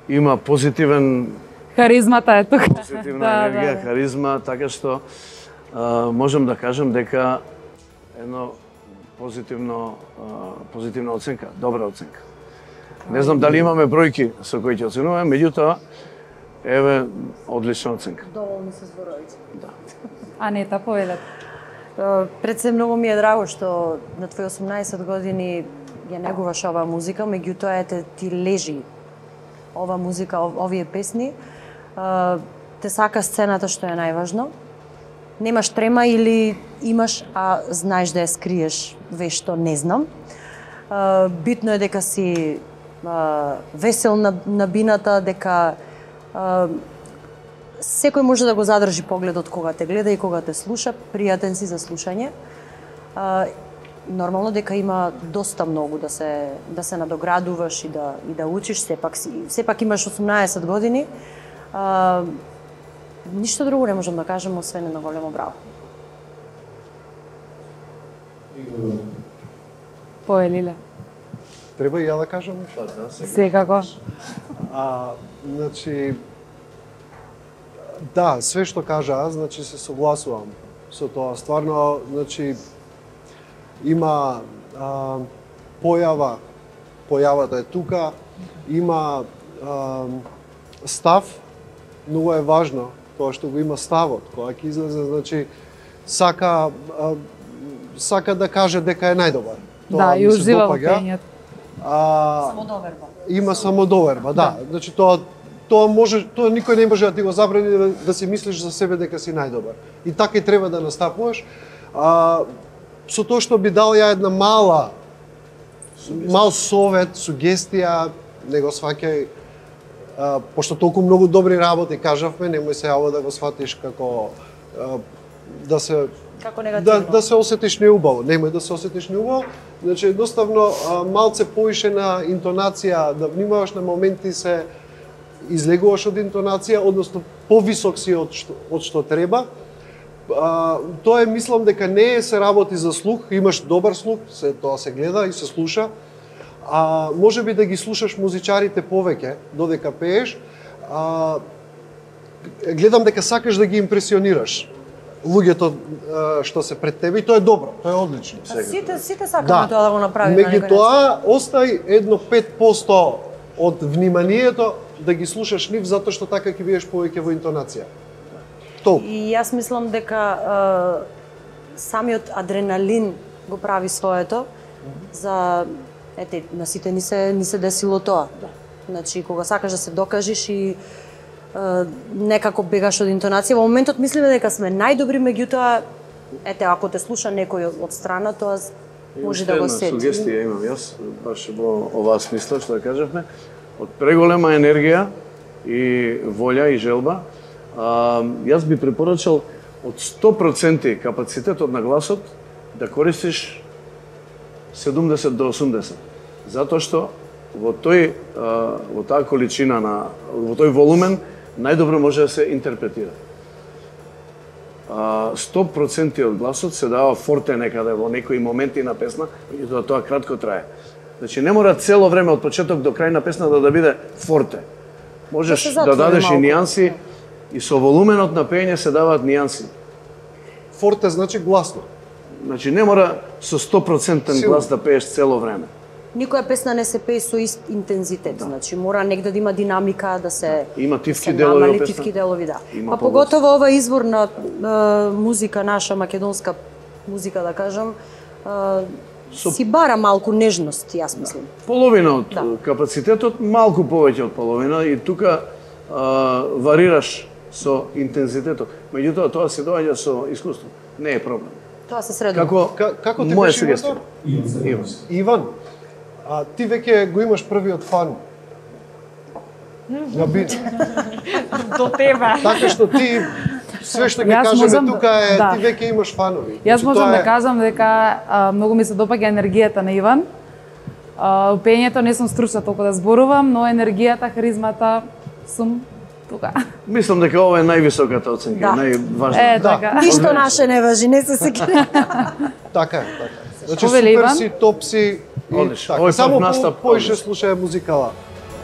[SPEAKER 4] Има позитивен...
[SPEAKER 3] Харизмата е тука.
[SPEAKER 4] Позитивна
[SPEAKER 3] да,
[SPEAKER 4] енергија,
[SPEAKER 3] да, да.
[SPEAKER 4] харизма, така што а, можам да кажем дека едно позитивно, а, позитивна оценка, добра оценка. Не знам дали имаме бројки со кои ќе оценуваме, меѓутоа, еве, одлична оценка.
[SPEAKER 6] Доволни се зборовите.
[SPEAKER 4] Да.
[SPEAKER 3] Анета, повелете.
[SPEAKER 6] Пред се многу ми е драго што на твои осумнаесет години ја негуваш оваа музика, меѓутоа ете ти лежи ова музика, овие песни. Те сака сцената што е најважно. Немаш трема или имаш, а знаеш да ја скриеш вешто не знам. Битно е дека си весел на, на бината, дека секој може да го задржи погледот кога те гледа и кога те слуша, пријатен си за слушање. А, нормално дека има доста многу да се да се надоградуваш и да и да учиш, сепак си сепак имаш осумнаесет години. А, ништо друго не можам да кажам освен едно големо браво.
[SPEAKER 3] Поелиле.
[SPEAKER 7] Треба и ја да кажам?
[SPEAKER 3] Секако.
[SPEAKER 7] А, значи, да, све што кажа, значи се согласувам со тоа. Стварно, значи, има а, појава, појавата е тука, има а, став, многу е важно тоа што го има ставот, кога ќе излезе, значи, сака, а, сака да каже дека е најдобар.
[SPEAKER 3] Да, и ужива во пењето.
[SPEAKER 6] Самодоверба.
[SPEAKER 7] Има самодоверба, да. да. Значи тоа тоа може, тоа никој не може да ти го забрани да, да си мислиш за себе дека си најдобар. И така и треба да настапуваш. А, со тоа што би дал ја една мала мал совет, сугестија, не го сваќај, а, пошто толку многу добри работи кажавме, немој се јаво да го сватиш како а, да се
[SPEAKER 6] како негативно.
[SPEAKER 7] Да, да се осетиш неубаво, немој да се осетиш неубаво. Значи, едноставно, а, малце поише на интонација, да внимаваш на моменти се излегуваш од интонација, односно повисок си од што, од што треба. А, тоа е, мислам дека не е се работи за слух, имаш добар слух, се тоа се гледа и се слуша. А може би да ги слушаш музичарите повеќе додека пееш. А, гледам дека сакаш да ги импресионираш луѓето што се пред тебе и тоа е добро, тоа е одлично.
[SPEAKER 6] Сите сите сакаме да. Тоа да го направиме.
[SPEAKER 7] Меѓутоа, остај едно пет посто од вниманието да ги слушаш нив, затоа што така ќе бидеш повеќе во интонација. Толку.
[SPEAKER 6] И јас мислам дека е, самиот адреналин го прави своето за ете на сите ни се ни се десило тоа. Да. Значи кога сакаш да се докажеш и е, некако бегаш од интонација, во моментот мислиме дека сме најдобри, меѓутоа ете ако те слуша некој од страна, тоа може да го сети.
[SPEAKER 4] Сугестија имам јас, баш во оваа смисла што да кажавме, од преголема енергија и волја и желба. А, јас би препорачал од сто проценти капацитетот на гласот да користиш седумдесет до осумдесет. Затоа што во тој а, во таа количина на во тој волумен најдобро може да се интерпретира. А, сто проценти од гласот се дава форте некаде во некои моменти на песна, меѓутоа тоа кратко трае. Значи не мора цело време од почеток до крај на песната да биде форте. Можеш да, да дадеш и нијанси, и со волуменот на пеење се даваат нијанси.
[SPEAKER 7] Форте значи гласно.
[SPEAKER 4] Значи не мора со сто проценти глас да пееш цело време.
[SPEAKER 6] никоја песна не се пее со ист интензитет, значи мора негде да има динамика, да се
[SPEAKER 4] има тивки
[SPEAKER 6] да
[SPEAKER 4] делови,
[SPEAKER 6] намали
[SPEAKER 4] песна?
[SPEAKER 6] тивки делови, да.
[SPEAKER 4] Има
[SPEAKER 6] Па поготово ова извор на е, музика наша, македонска музика, да кажам, е,
[SPEAKER 4] Со...
[SPEAKER 6] си бара малку нежност, јас мислам.
[SPEAKER 4] Половина од
[SPEAKER 6] да.
[SPEAKER 4] капацитетот, малку повеќе од половина, и тука а, варираш со интензитетот. Меѓутоа, тоа се доаѓа со искуство. Не е проблем.
[SPEAKER 6] Тоа се средува.
[SPEAKER 4] Како,
[SPEAKER 7] Ка, како ти
[SPEAKER 4] моја
[SPEAKER 7] беше
[SPEAKER 4] сугестија.
[SPEAKER 7] Иван? Иван. Иван, а ти веќе го имаш првиот фан. На бит.
[SPEAKER 2] До тебе.
[SPEAKER 7] Така што ти све што ќе
[SPEAKER 3] Јас
[SPEAKER 7] кажеме
[SPEAKER 3] можам да-
[SPEAKER 7] тука е
[SPEAKER 3] да.
[SPEAKER 7] ти веќе имаш фанови.
[SPEAKER 3] Јас
[SPEAKER 7] Значи,
[SPEAKER 3] можам
[SPEAKER 7] тоа
[SPEAKER 3] да
[SPEAKER 7] е-
[SPEAKER 3] кажам дека а, многу ми се допаѓа енергијата на Иван. А, у пеењето не сум стручна толку да зборувам, но енергијата, харизмата сум тука.
[SPEAKER 4] Мислам дека ова е највисоката оценка,
[SPEAKER 6] Да.
[SPEAKER 4] најважна.
[SPEAKER 3] Е, така.
[SPEAKER 6] Ништо наше не важи, не се секи.
[SPEAKER 7] Така е, така. е. Значи
[SPEAKER 3] Повели,
[SPEAKER 7] супер
[SPEAKER 3] Иван?
[SPEAKER 7] си, топ си. и
[SPEAKER 4] Одлично.
[SPEAKER 7] така.
[SPEAKER 4] Овој
[SPEAKER 7] Само
[SPEAKER 4] пат
[SPEAKER 7] по,
[SPEAKER 4] настап,
[SPEAKER 7] поише
[SPEAKER 4] одлично.
[SPEAKER 7] слушај музикала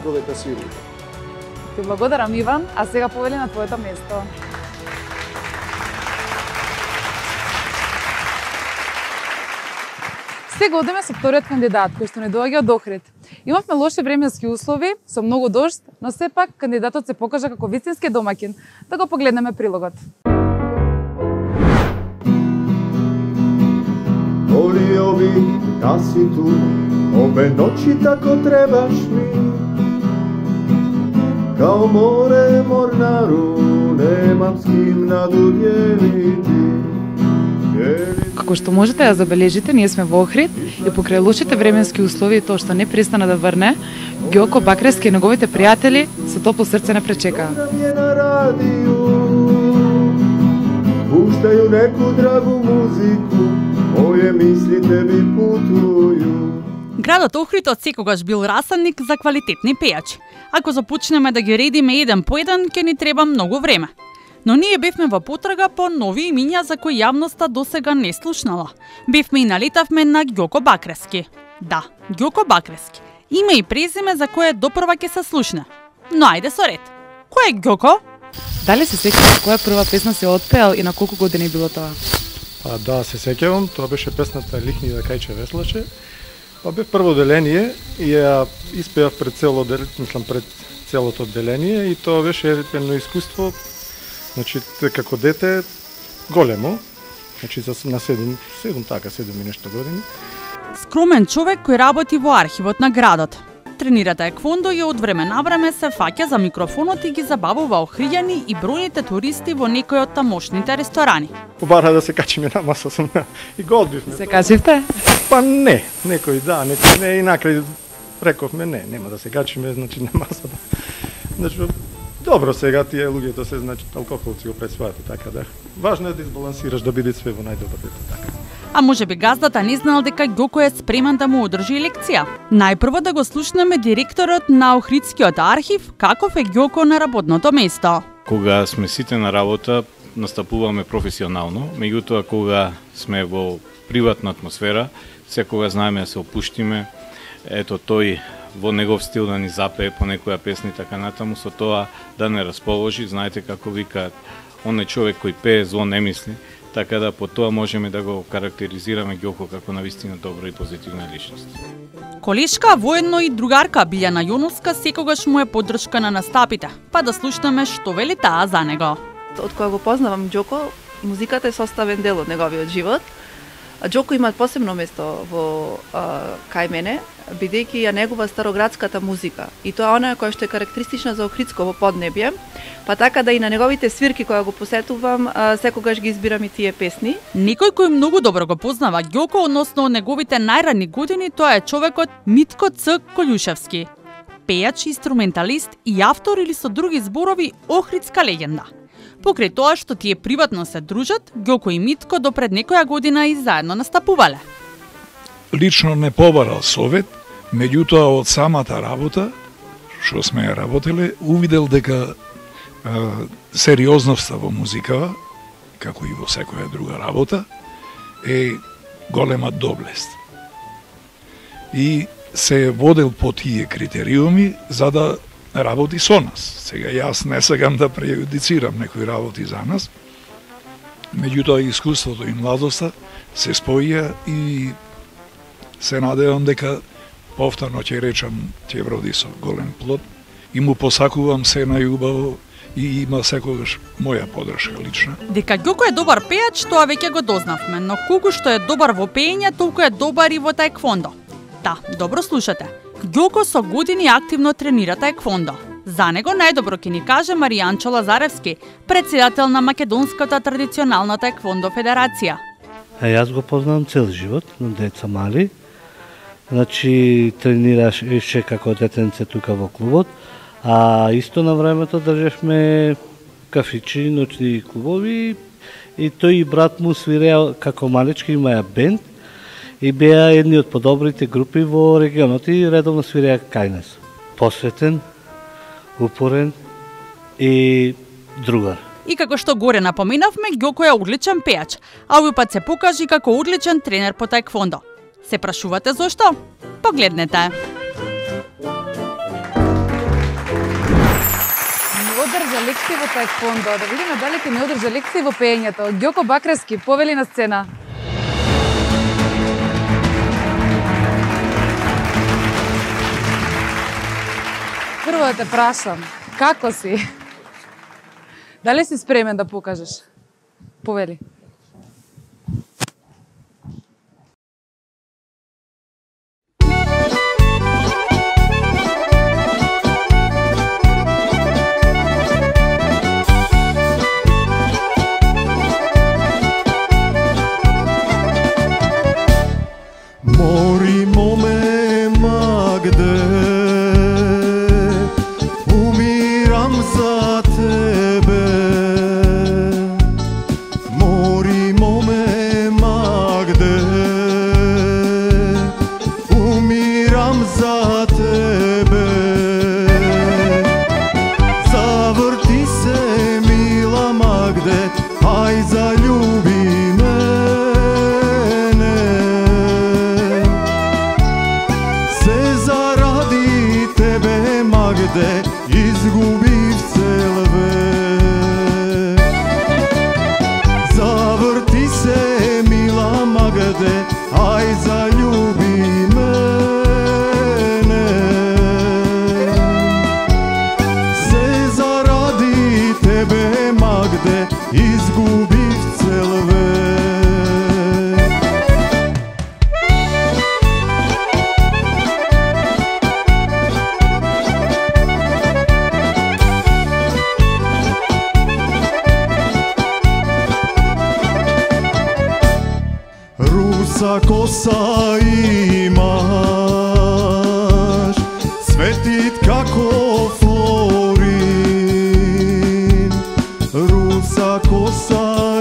[SPEAKER 7] додека свири.
[SPEAKER 3] Ти благодарам, Иван, а сега повели на твоето место. Сега одеме со вториот кандидат, кој што не доаѓа од Охрид. Имавме лоши временски услови, со многу дожд, но сепак кандидатот се покажа како вистински домаќин. Да го погледнеме прилогот.
[SPEAKER 14] Volio bi da si tu, ove noći tako trebaš mi. Kao more mornaru, nemam s kim nadudjeliti.
[SPEAKER 3] Како што можете да забележите, ние сме во Охрид и покрај лошите временски услови и тоа што не престана да врне, Ѓоко Бакрески и неговите пријатели со топло срце не пречекаа.
[SPEAKER 14] Je na radiju, puštaju neku dragu muziku, moje misli tebi putuju.
[SPEAKER 8] Градот Охрид од секогаш бил расанник за квалитетни пејачи. Ако започнеме да ги редиме еден по еден, ќе ни треба многу време. Но ние бевме во потрага по нови имиња за кои јавноста досега не слушнала. Бевме и налетавме на Ѓоко Бакрески. Да, Ѓоко Бакрески. Име и презиме за кое допрва ќе се слушне. Но ајде со ред. Кој е Ѓоко?
[SPEAKER 3] Дали се сеќаваш која прва песна си отпеал и на колку години било тоа?
[SPEAKER 13] Па да, се сеќавам, тоа беше песната Лихни да кајче веслаше. Па бев прво деление и ја испеав пред цело дел, мислам пред целото деление и тоа беше едно искуство, значи како дете големо, значи за на седум, седум така, седум и нешто години.
[SPEAKER 8] Скромен човек кој работи во архивот на градот. Тренира таеквондо и од време на време се фаќа за микрофонот и ги забавува охријани и бројните туристи во некој од тамошните ресторани.
[SPEAKER 13] Побара да се качиме на маса сум и го одбивме.
[SPEAKER 3] Се качивте?
[SPEAKER 13] Па не, некој да, некој не, и накрај рековме не, нема да се качиме, значи на масата. Значи, добро сега тие луѓето се, значи, алкохолци го пресваат и така да. Важно е да избалансираш, да биде све во најдобар вид, така.
[SPEAKER 8] А може би газдата не знал дека Ѓоко е спремен да му одржи лекција. Најпрво да го слушнеме директорот на Охридскиот архив каков е Ѓоко на работното место.
[SPEAKER 15] Кога сме сите на работа, настапуваме професионално, меѓутоа кога сме во приватна атмосфера, секога знаеме да се опуштиме, ето тој во негов стил да ни запее по некоја песна и така натаму, со тоа да не расположи, знаете како викаат, он е човек кој пее, зло не мисли, така да по тоа можеме да го карактеризираме Ѓоко како навистина добра и позитивна личност.
[SPEAKER 8] Колешка, воедно и другарка Билјана Јоновска секогаш му е поддршка на настапите, па да слушнеме што вели таа за него.
[SPEAKER 16] Од кога го познавам Ѓоко, музиката е составен дел од неговиот живот. Ѓоко има посебно место во а, кај мене, бидејќи ја негува староградската музика. И тоа она која што е карактеристична за Охридско поднебје, па така да и на неговите свирки која го посетувам, а, секогаш ги избирам и тие песни.
[SPEAKER 8] Некој кој многу добро го познава Ѓоко, односно неговите најранни години, тоа е човекот Митко Ц. Колјушевски. Пејач, инструменталист и автор или со други зборови охридска легенда. Покрај тоа што тие приватно се дружат, Ѓоко и Митко до пред некоја година и заедно настапувале.
[SPEAKER 17] Лично не побарал совет, меѓутоа од самата работа, што сме ја работеле, увидел дека е, сериозноста во музикава, како и во секоја друга работа, е голема доблест. И се водел по тие критериуми за да работи со нас. Сега јас не сакам да прејудицирам некои работи за нас, меѓутоа искуството и младоста се споија и се надевам дека повторно ќе речам, ќе роди со голем плод и му посакувам се најубаво и има секогаш моја подршка лична.
[SPEAKER 8] Дека Ѓоко е добар пејач, тоа веќе го дознавме, но колку што е добар во пеење, толку е добар и во таеквондо. Да, добро слушате. Ѓоко со години активно тренира таеквондо. За него најдобро ќе ни каже Маријанчо Лазаревски, председател на Македонската традиционална таеквондо федерација.
[SPEAKER 18] А јас го познавам цел живот, на деца мали. Значи, тренираше како детенце тука во клубот, а исто на времето држевме кафичи, ноќни клубови и тој и брат му свиреа како малички, имаја бенд и беа едни од подобрите групи во регионот и редовно свиреа кај нас. Посветен, упорен и другар.
[SPEAKER 8] И како што горе напоменавме, Ѓоко е одличен пејач, а овој пат се покажи како одличен тренер по таеквондо. Се прашувате зошто? Погледнете.
[SPEAKER 3] Не одржа лекции во таеквондо, да видиме дали ќе не одржа лекции во пеењето. Ѓоко Бакрески, повели на сцена. Прво да те прашам, како си? Дали си спремен да покажеш? Повели.
[SPEAKER 14] Мори моме Магде, умирам за тебе. Мори моме Магде, умирам за тебе. Заврти се, мила Магде, ај залюби мене. Се заради тебе, Магде, изгубив цел век. Заврти се, мила Магде, ај залюби мене. Се заради тебе, Магде, изгубив цел век. Руса коса имаш, светит како флорин. Руса коса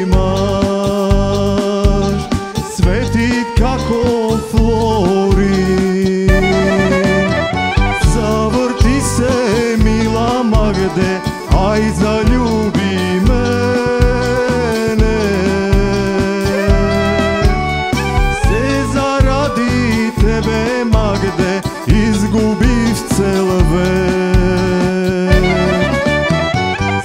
[SPEAKER 14] имаш, светит како флорин. Заврти се, мила Магде, ај залюби мене. Се заради тебе, Магде, изгубив цел век.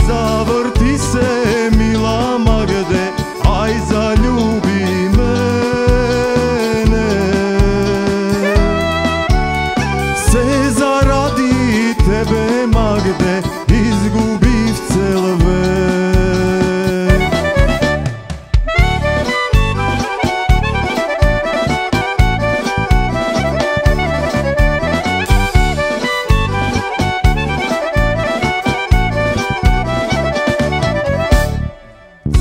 [SPEAKER 14] Заврти се, мила Магде, ај залюби мене. Се заради тебе, Магде, изгубив цел век.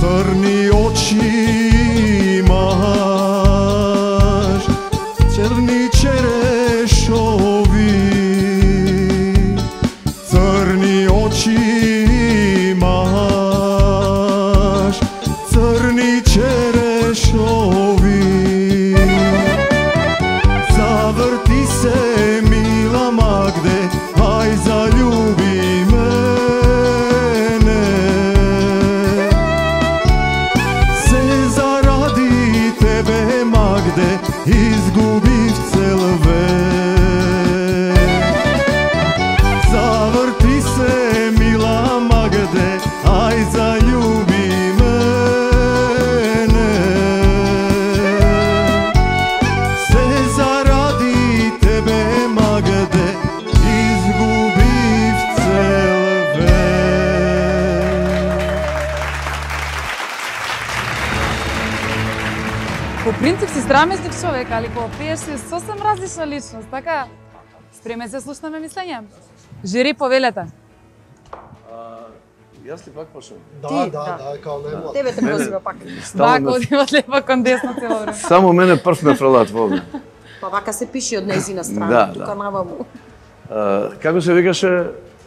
[SPEAKER 14] Црни очи имаш, черни черешови. Црни очи имаш, црни черешови. Заврти се, мила Магде, ај залюби мене. Се заради тебе, Магде, изгубив цел век. Заврти се, мила Магде, ај залюби мене. Се заради
[SPEAKER 3] По принцип си страмезлив човек, али кога пееш си сосем различна личност, така? Спремен се слушнаме мислење? Жири, повелете.
[SPEAKER 4] Јас ли пак почнем?
[SPEAKER 7] Да,
[SPEAKER 2] Ти,
[SPEAKER 7] да,
[SPEAKER 2] да.
[SPEAKER 7] да, као најмлад.
[SPEAKER 2] Тебе те позива пак.
[SPEAKER 3] Вака одива лева кон десно цело време.
[SPEAKER 4] Само мене прв ме фрлат во овде.
[SPEAKER 2] Па вака се пише од нејзина страна,
[SPEAKER 4] Да,
[SPEAKER 2] тука
[SPEAKER 4] да.
[SPEAKER 2] наваму.
[SPEAKER 4] А, како се викаше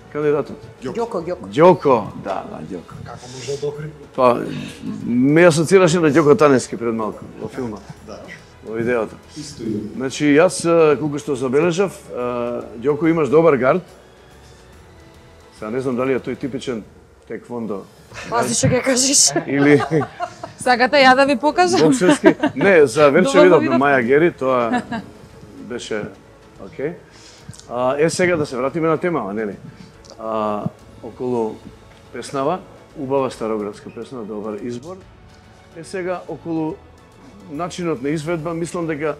[SPEAKER 4] кандидатот?
[SPEAKER 2] Ѓоко, Ѓоко.
[SPEAKER 4] Ѓоко, да, да, Ѓоко.
[SPEAKER 7] Како може да охри?
[SPEAKER 4] Па, ме асоцираше на Ѓоко Таневски пред малку, во филма.
[SPEAKER 7] Да.
[SPEAKER 4] Во видеото. Значи, јас, колку што забележав, Ѓоко имаш добар гард. Сега не знам дали е тој типичен теквондо.
[SPEAKER 2] Пази што ќе кажеш.
[SPEAKER 4] Или
[SPEAKER 3] Сакате ја да ви покажам?
[SPEAKER 4] боксерски. Не, за Верче
[SPEAKER 3] Доволно
[SPEAKER 4] видовме
[SPEAKER 3] видов.
[SPEAKER 4] Маја Гери, тоа беше окей. А, е сега да се вратиме на темава, нели? А, околу песнава, убава староградска песна, добар избор. Е сега околу начинот на изведба, мислам дека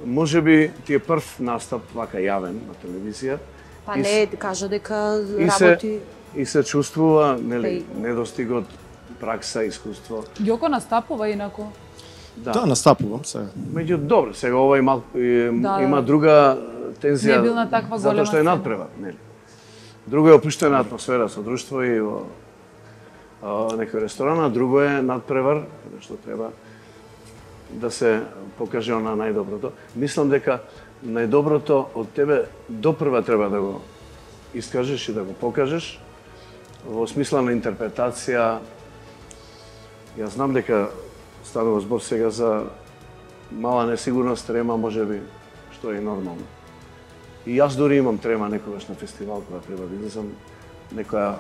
[SPEAKER 4] можеби ти е прв настап вака јавен на телевизија.
[SPEAKER 2] Па
[SPEAKER 4] И
[SPEAKER 2] не, кажа дека
[SPEAKER 4] И се,
[SPEAKER 2] работи...
[SPEAKER 4] и се чувствува, нели,
[SPEAKER 2] Пеј.
[SPEAKER 4] недостигот пракса, искуство.
[SPEAKER 3] Ѓоко настапува инаку.
[SPEAKER 19] Да, настапувам сега.
[SPEAKER 4] Меѓу добро, сега ова има
[SPEAKER 3] Да,
[SPEAKER 4] има
[SPEAKER 3] да.
[SPEAKER 4] друга тензија.
[SPEAKER 3] Не бил на таква
[SPEAKER 4] затоа
[SPEAKER 3] голема
[SPEAKER 4] што е
[SPEAKER 3] сцена.
[SPEAKER 4] надпревар, нели? Друго е опуштена атмосфера со друштво и во а, некој ресторан, а друго е надпревар, каде што треба да се покаже она најдоброто. Мислам дека најдоброто од тебе допрва треба да го искажеш и да го покажеш во смисла на интерпретација. Јас знам дека станува збор сега за мала несигурност, трема можеби, што е нормално. И јас дури имам трема некогаш на фестивал кога треба да излезам, некоја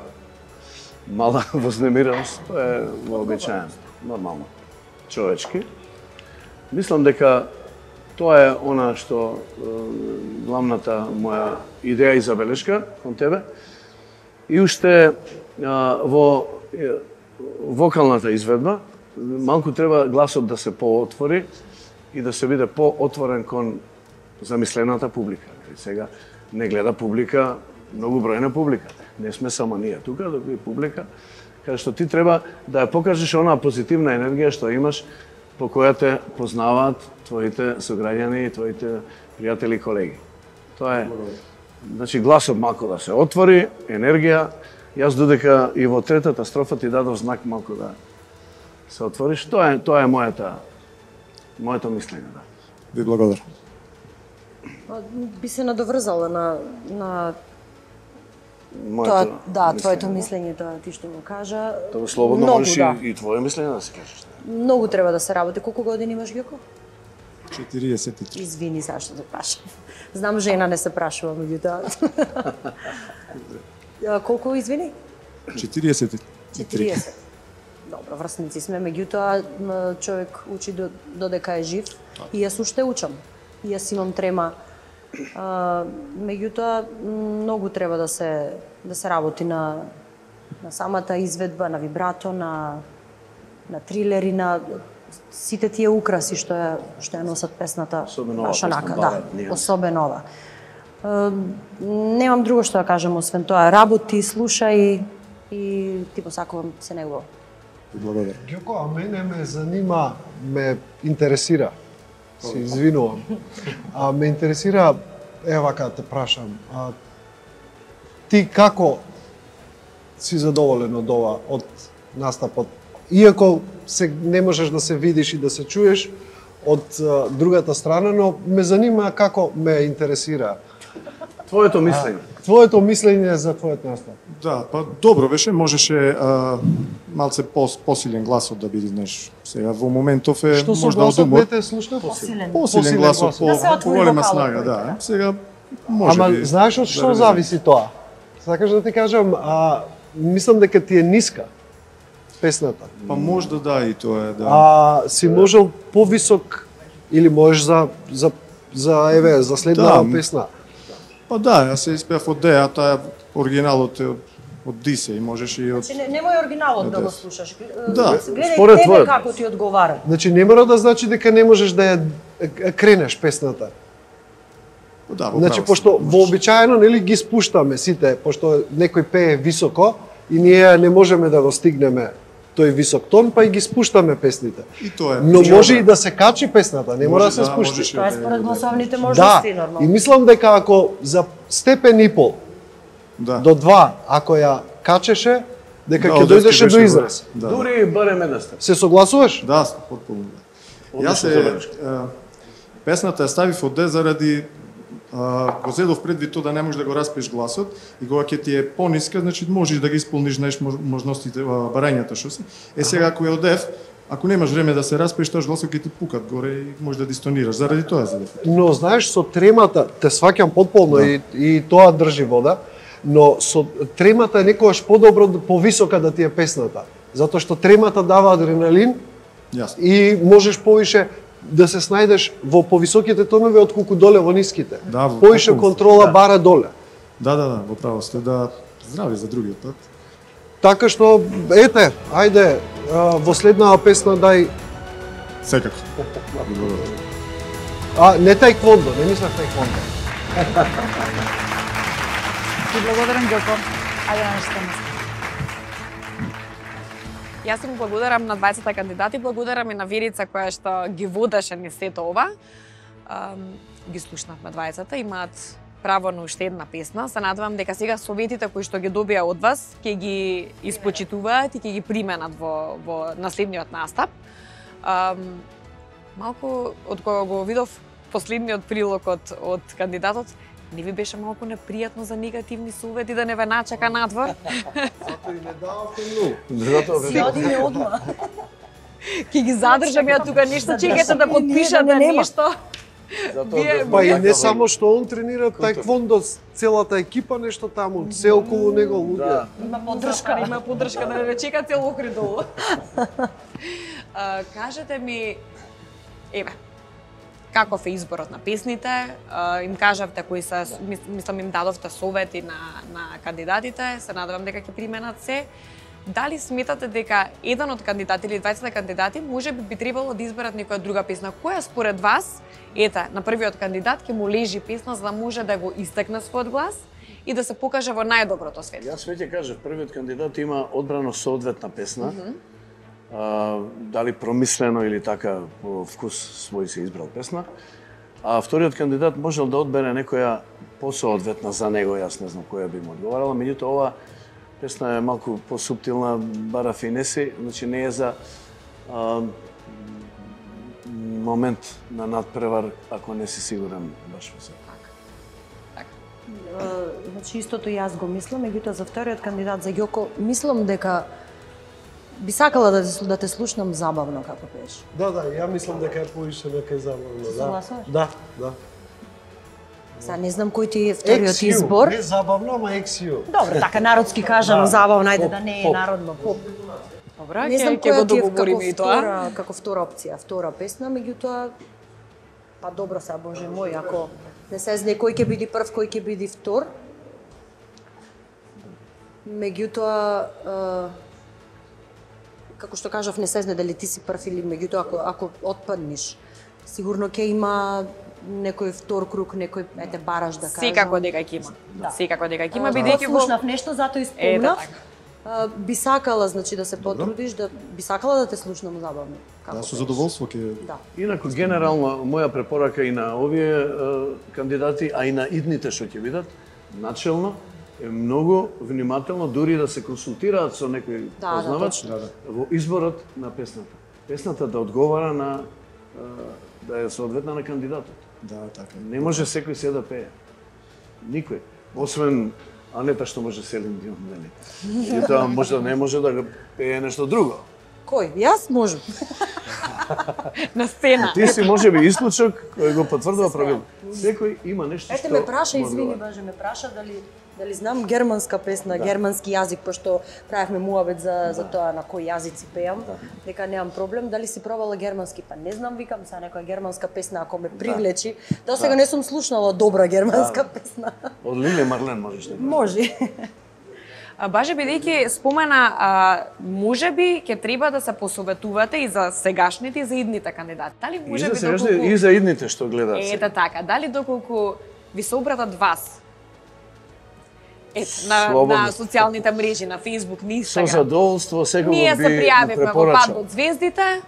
[SPEAKER 4] мала вознемиреност, тоа е вообичаено, нормално, човечки. Мислам дека тоа е она што е, главната моја идеја и забелешка кон тебе. И уште е, во е, вокалната изведба, малку треба гласот да се поотвори и да се биде поотворен кон замислената публика. И сега не гледа публика, многу бројна публика. Не сме само ние тука, туку и публика, каде што ти треба да ја покажеш онаа позитивна енергија што имаш, по која те познаваат твоите сограѓани и твоите пријатели и колеги. Тоа е, значи, гласот малку да се отвори, енергија. Јас додека и во третата строфа ти дадов знак малку да се отвориш. Тоа е, тоа е мојата, моето мислење, да.
[SPEAKER 19] Ви благодарам.
[SPEAKER 2] Би се надоврзала на, на
[SPEAKER 4] Моето
[SPEAKER 2] тоа, да,
[SPEAKER 4] мислење,
[SPEAKER 2] твоето
[SPEAKER 4] да.
[SPEAKER 2] мислење, тоа ти што му кажа.
[SPEAKER 4] Тоа слободно
[SPEAKER 2] Многу,
[SPEAKER 4] можеш
[SPEAKER 2] да.
[SPEAKER 4] и, и твое мислење да се кажеш.
[SPEAKER 2] Многу треба да се работи. Колку години имаш, Ѓоко?
[SPEAKER 19] четириесет и три.
[SPEAKER 2] Извини зашто те прашам. Знам жена не се прашува, меѓутоа. Ја, Колку извини?
[SPEAKER 19] четириесет и три.
[SPEAKER 2] четириесет. Добро, врсници сме, меѓутоа м, човек учи до, додека е жив и јас уште учам. И јас имам трема. А, меѓутоа многу треба да се да се работи на на самата изведба, на вибрато, на на трилери, на сите тие украси што ја што ја носат песната
[SPEAKER 4] Особено ова
[SPEAKER 2] наша
[SPEAKER 4] песна,
[SPEAKER 2] нака,
[SPEAKER 4] балет,
[SPEAKER 2] да,
[SPEAKER 4] ние.
[SPEAKER 2] особено ова. Е, немам друго што да кажам освен тоа, работи, слушај и ти посакувам се него.
[SPEAKER 19] Благодарам.
[SPEAKER 7] Ѓоко, а мене ме занима, ме интересира. Се извинувам. А ме интересира, ева вака те прашам, а, ти како си задоволен од ова, од настапот? Иако се не можеш да се видиш и да се чуеш од а, другата страна, но ме занима како ме интересира.
[SPEAKER 4] Твоето мислење.
[SPEAKER 7] А, твоето мислење за твојот настап.
[SPEAKER 19] Да, па добро беше, можеше а, малце пос, посилен гласот да биде, знаеш. Сега во моментов е
[SPEAKER 7] Што со
[SPEAKER 19] можда од
[SPEAKER 7] гласот
[SPEAKER 19] умор.
[SPEAKER 7] не те слушна?
[SPEAKER 2] Посилен.
[SPEAKER 19] Посилен гласот, по,
[SPEAKER 2] Да се
[SPEAKER 19] по
[SPEAKER 2] отвори
[SPEAKER 19] голема
[SPEAKER 2] вокалот
[SPEAKER 19] снага,
[SPEAKER 2] тој,
[SPEAKER 19] да.
[SPEAKER 2] така?
[SPEAKER 19] Сега може
[SPEAKER 7] Ама
[SPEAKER 19] би.
[SPEAKER 7] знаеш од што
[SPEAKER 19] да
[SPEAKER 7] зависи тоа? Сакаш да ти кажам, а, мислам дека ти е ниска песната.
[SPEAKER 19] Па можда да и тоа е, да.
[SPEAKER 7] А си можел повисок или можеш за за за еве за следната
[SPEAKER 19] Да.
[SPEAKER 7] песна.
[SPEAKER 19] Па да, јас се испеав од Деа, таа оригиналот е од, од Дисе и можеш и од...
[SPEAKER 2] Значи не, немој оригиналот да го
[SPEAKER 19] Да.
[SPEAKER 2] слушаш.
[SPEAKER 19] Да.
[SPEAKER 2] Гледај
[SPEAKER 7] Според
[SPEAKER 2] тебе
[SPEAKER 7] твојот.
[SPEAKER 2] како ти одговара.
[SPEAKER 7] Значи не мора да значи дека не можеш да ја е, кренеш песната.
[SPEAKER 19] Да, во
[SPEAKER 7] Значи
[SPEAKER 19] право
[SPEAKER 7] пошто вообичаено нели ги спуштаме сите, пошто некој пее високо и ние не можеме да го стигнеме тој висок тон, па и ги спуштаме песните.
[SPEAKER 19] И тоа е.
[SPEAKER 7] Но може и да се качи песната, не мора да се спушти.
[SPEAKER 6] Тоа е според гласовните
[SPEAKER 7] Да,
[SPEAKER 6] можности нормално.
[SPEAKER 7] и мислам дека ако за степен и пол
[SPEAKER 19] да.
[SPEAKER 7] до два, ако ја качеше, дека
[SPEAKER 19] Да,
[SPEAKER 7] ќе
[SPEAKER 19] одески
[SPEAKER 7] дојдеше
[SPEAKER 19] беше
[SPEAKER 7] до израз.
[SPEAKER 19] Да.
[SPEAKER 4] Дури барем една степ.
[SPEAKER 7] Се согласуваш?
[SPEAKER 19] Да, потполно. Јас се е, песната ја ставив од де заради а, го зедов предвид тоа да не можеш да го распиеш гласот и кога ќе ти е пониска, значи можеш да ги исполниш знаеш можностите, а, барањата што се. Е сега ако ја одев, ако немаш време да се распиеш, тоа гласот ќе ти пукат горе и може да дистонираш. Заради тоа задев.
[SPEAKER 7] Но знаеш со тремата, те сваќам потполно
[SPEAKER 19] Да.
[SPEAKER 7] и, и тоа држи вода, но со тремата е некогаш подобро повисока да ти е песната, затоа што тремата дава адреналин.
[SPEAKER 19] Јасно.
[SPEAKER 7] И можеш повише да се снајдеш во повисоките тонови отколку доле во ниските.
[SPEAKER 19] Да, во
[SPEAKER 7] повише
[SPEAKER 19] потполно.
[SPEAKER 7] контрола
[SPEAKER 19] Да.
[SPEAKER 7] бара доле.
[SPEAKER 19] Да, да, да, во право сте, да здрави за другиот пат.
[SPEAKER 7] Така што ете, ајде а, во следнава песна дај.
[SPEAKER 19] Секако.
[SPEAKER 7] А не тајквондо, не мислев тајквондо.
[SPEAKER 2] Ти благодарам, Ѓоко. Ајде на нешто место. Јас им благодарам на дваесет кандидати, благодарам и на Верица која што ги водеше низ сето ова. Um, ги слушнавме дваесет, имаат право на уште една песна. Се надевам дека сега советите кои што ги добија од вас ќе ги испочитуваат и ќе ги применат во, во наследниот настап. Um, малку од кога го видов последниот прилог од, од кандидатот, не ви беше малку непријатно за негативни совети да не ве начека надвор?
[SPEAKER 7] Затоа и не дававте многу.
[SPEAKER 4] Затоа
[SPEAKER 6] Си одиме одма.
[SPEAKER 2] Ќе ги задржам ја тука нешто, чекате да подпишате нешто. Вие-
[SPEAKER 7] Па и
[SPEAKER 2] вие-
[SPEAKER 7] не само што он тренира тајквондо, целата екипа нешто таму, се околу него луѓе.
[SPEAKER 2] Има поддршка, има поддршка да не ве чека цел Охрид долу. А, кажете ми, еве, каков е изборот на песните? А, им кажавте кои се, мис- мислам им дадовте совети на, на кандидатите, се надевам дека ќе применат се. Дали сметате дека еден од кандидати или дваесет кандидати може би би требало да изберат некоја друга песна? Која според вас, ете, на првиот кандидат ќе му лежи песна за да може да го истакне својот глас и да се покаже во најдоброто светло?
[SPEAKER 4] Јас веќе кажав, првиот кандидат има одбрано соодветна песна.
[SPEAKER 2] Мгм.
[SPEAKER 4] А, дали промислено или така по вкус свој се избрал песна. А вториот кандидат можел да одбере некоја посоодветна за него, јас не знам која би му одговарала, меѓутоа ова песна е малку посуптилна, бара финеси, значи не е за а, момент на надпревар ако не си сигурен баш во себе.
[SPEAKER 6] Е, Значи истото и јас го мислам, меѓутоа за вториот кандидат за Ѓоко мислам дека би сакала да те, да те слушнам забавно како пееш.
[SPEAKER 7] Да, да, ја мислам дека е повише дека е забавно.
[SPEAKER 6] Се
[SPEAKER 7] Да,
[SPEAKER 6] согласуваш?
[SPEAKER 7] да, да.
[SPEAKER 6] Сега не знам кој ти е вториот
[SPEAKER 7] Екс Ю,
[SPEAKER 6] избор.
[SPEAKER 7] Не забавно, ама екс ю.
[SPEAKER 6] Добро, така народски кажано,
[SPEAKER 7] Да.
[SPEAKER 6] забавно, ајде
[SPEAKER 7] Поп,
[SPEAKER 6] да не е
[SPEAKER 7] поп.
[SPEAKER 6] народно, поп.
[SPEAKER 2] Добра,
[SPEAKER 6] Не знам
[SPEAKER 2] ќе ќе го
[SPEAKER 6] која ти е како
[SPEAKER 2] договориме и тоа.
[SPEAKER 6] втора, како втора опција, втора песна, меѓутоа па добро се, боже мој, ако не се знае кој ќе биде прв, кој ќе биде втор. Меѓутоа е, како што кажав, не се знае дали ти си прв или меѓутоа ако ако отпаднеш, сигурно ќе има некој втор круг, некој ете бараш да кажам.
[SPEAKER 2] Секако дека ќе има.
[SPEAKER 6] Да.
[SPEAKER 2] Секако дека ќе има,
[SPEAKER 6] А,
[SPEAKER 2] бидејќи во...
[SPEAKER 6] слушнав нешто, затоа
[SPEAKER 2] Ете
[SPEAKER 6] испомнав.
[SPEAKER 2] така.
[SPEAKER 6] А, би сакала, значи, да се потрудиш, да би сакала да те слушнам забавно. Како
[SPEAKER 19] Да, со
[SPEAKER 6] пееш.
[SPEAKER 19] задоволство ќе
[SPEAKER 6] Да.
[SPEAKER 4] Инаку генерално моја препорака и на овие е, кандидати, а и на идните што ќе видат, начелно е многу внимателно дури да се консултираат со некој
[SPEAKER 6] Да, да,
[SPEAKER 4] познавач
[SPEAKER 6] точно.
[SPEAKER 4] во изборот на песната. Песната да одговара на е, да е соодветна на кандидатот.
[SPEAKER 19] Да, така.
[SPEAKER 4] Не може секој се да пее. Никој. Освен Анета што може Селин Дион, нели? И тоа може да не може да го пее нешто друго.
[SPEAKER 6] Кој? Јас можам.
[SPEAKER 2] На сцена.
[SPEAKER 4] Ти си можеби исклучок кој го потврдува правило. Секој има нешто
[SPEAKER 6] Ете
[SPEAKER 4] што
[SPEAKER 6] ме праша,
[SPEAKER 4] му
[SPEAKER 6] извини,
[SPEAKER 4] одговара.
[SPEAKER 6] боже, ме праша дали дали знам германска песна, да. Германски јазик, пошто правевме муабет за за тоа на кои јазици пеам, да. Дека немам проблем. Дали си пробала германски? Па не знам, викам са некоја германска песна ако ме привлечи. До сега
[SPEAKER 4] Да.
[SPEAKER 6] не сум слушнала добра германска
[SPEAKER 4] Да.
[SPEAKER 6] песна.
[SPEAKER 4] Од Лиле Марлен можеш да.
[SPEAKER 6] Може.
[SPEAKER 2] А, Баже, бидејќи спомена, а, можеби ќе треба да се посоветувате и за сегашните и за идните кандидати. Дали
[SPEAKER 4] И
[SPEAKER 2] можеби
[SPEAKER 4] за сегашни,
[SPEAKER 2] доколку...
[SPEAKER 4] и за идните што гледаат.
[SPEAKER 2] Ете така, дали доколку ви се обратат вас, Ет, на,
[SPEAKER 4] Слободно.
[SPEAKER 2] на социјалните мрежи, на Facebook, на
[SPEAKER 4] Со
[SPEAKER 2] Instagram.
[SPEAKER 4] задоволство секој
[SPEAKER 2] Ние
[SPEAKER 4] би
[SPEAKER 2] се пријавивме во Пат
[SPEAKER 4] препорачал.
[SPEAKER 2] од звездите,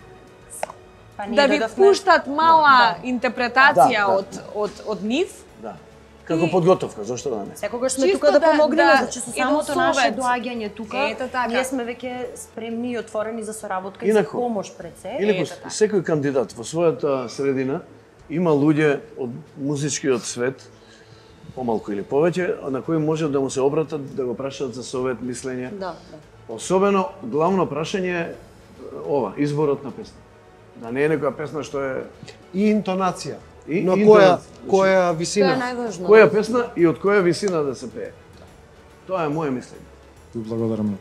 [SPEAKER 6] Па ние
[SPEAKER 2] да ви
[SPEAKER 6] додовме-
[SPEAKER 2] пуштат мала интерпретација
[SPEAKER 4] Да, да.
[SPEAKER 2] од, од, од нив.
[SPEAKER 4] Да. Како подготовка, зошто да не?
[SPEAKER 6] Секогаш сме
[SPEAKER 2] Чисто
[SPEAKER 6] тука да
[SPEAKER 2] да-
[SPEAKER 6] помогнеме,
[SPEAKER 2] да-
[SPEAKER 6] значи со
[SPEAKER 2] и да
[SPEAKER 6] самото наше
[SPEAKER 2] совет.
[SPEAKER 6] доаѓање тука,
[SPEAKER 2] Ето така.
[SPEAKER 6] ние сме веќе спремни и отворени за соработка и за
[SPEAKER 4] Инаку,
[SPEAKER 6] помош пред се.
[SPEAKER 4] Инаку,
[SPEAKER 6] Ето така.
[SPEAKER 4] секој кандидат во својата средина има луѓе од музичкиот свет, помалку или повеќе, на кои може да му се обратат, да го прашаат за совет, мислење.
[SPEAKER 6] Да, да.
[SPEAKER 4] Особено, главно прашање е ова, изборот на песна. Да не е некоја песна што е...
[SPEAKER 7] И интонација.
[SPEAKER 4] И,
[SPEAKER 7] На
[SPEAKER 4] и
[SPEAKER 7] која,
[SPEAKER 4] интонација.
[SPEAKER 7] која висина?
[SPEAKER 6] Тоа е најважно.
[SPEAKER 4] Која песна и од која висина да се пее. Тоа е моје мислење.
[SPEAKER 19] Ти благодарам.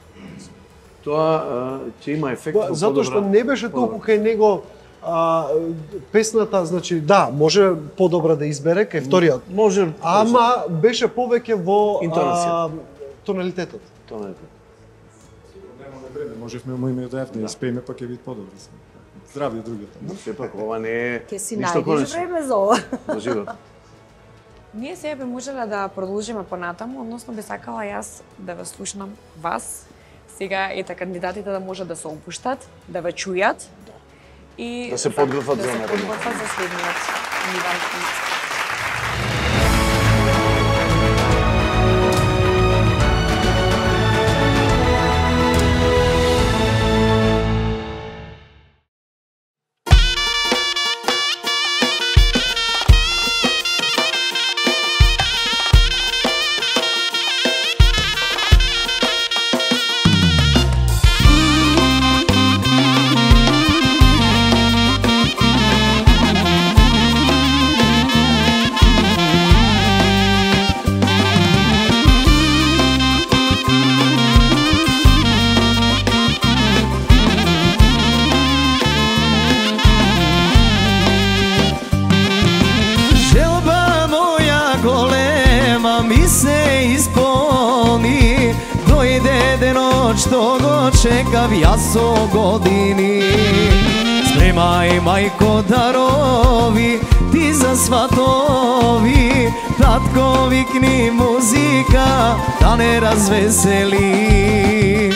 [SPEAKER 4] Тоа а, ќе има ефект
[SPEAKER 7] Па,
[SPEAKER 4] во
[SPEAKER 7] затоа што
[SPEAKER 4] подобра-
[SPEAKER 7] не беше толку кај него а, песната, значи да, може подобра да избере кај вториот.
[SPEAKER 4] Може.
[SPEAKER 7] Ама беше повеќе во а,
[SPEAKER 4] Интонација.
[SPEAKER 7] тоналитетот.
[SPEAKER 4] Тоналитет.
[SPEAKER 19] Нема да бреме, можевме му име да ефне, испееме па ќе биде подобро. Здравје другите.
[SPEAKER 4] Но сепак ова не е
[SPEAKER 6] Ке си
[SPEAKER 4] ништо
[SPEAKER 6] најдеш
[SPEAKER 4] конечно.
[SPEAKER 6] време за ова.
[SPEAKER 4] Во живот.
[SPEAKER 2] Ние сега би можеле да продолжиме понатаму, односно би сакала јас да ве слушнам вас. Сега ете кандидатите да може да се опуштат, да ве чујат. И
[SPEAKER 4] Да се подготват
[SPEAKER 2] да
[SPEAKER 4] за
[SPEAKER 2] се
[SPEAKER 4] наредно.
[SPEAKER 2] подготват за следниот ниван квиз.
[SPEAKER 1] Желба моја голема ми се исполни, дојде денот што го чекав јас со години. Спремај мајко дарови, ти за сватови, татко викни музика да не развесели.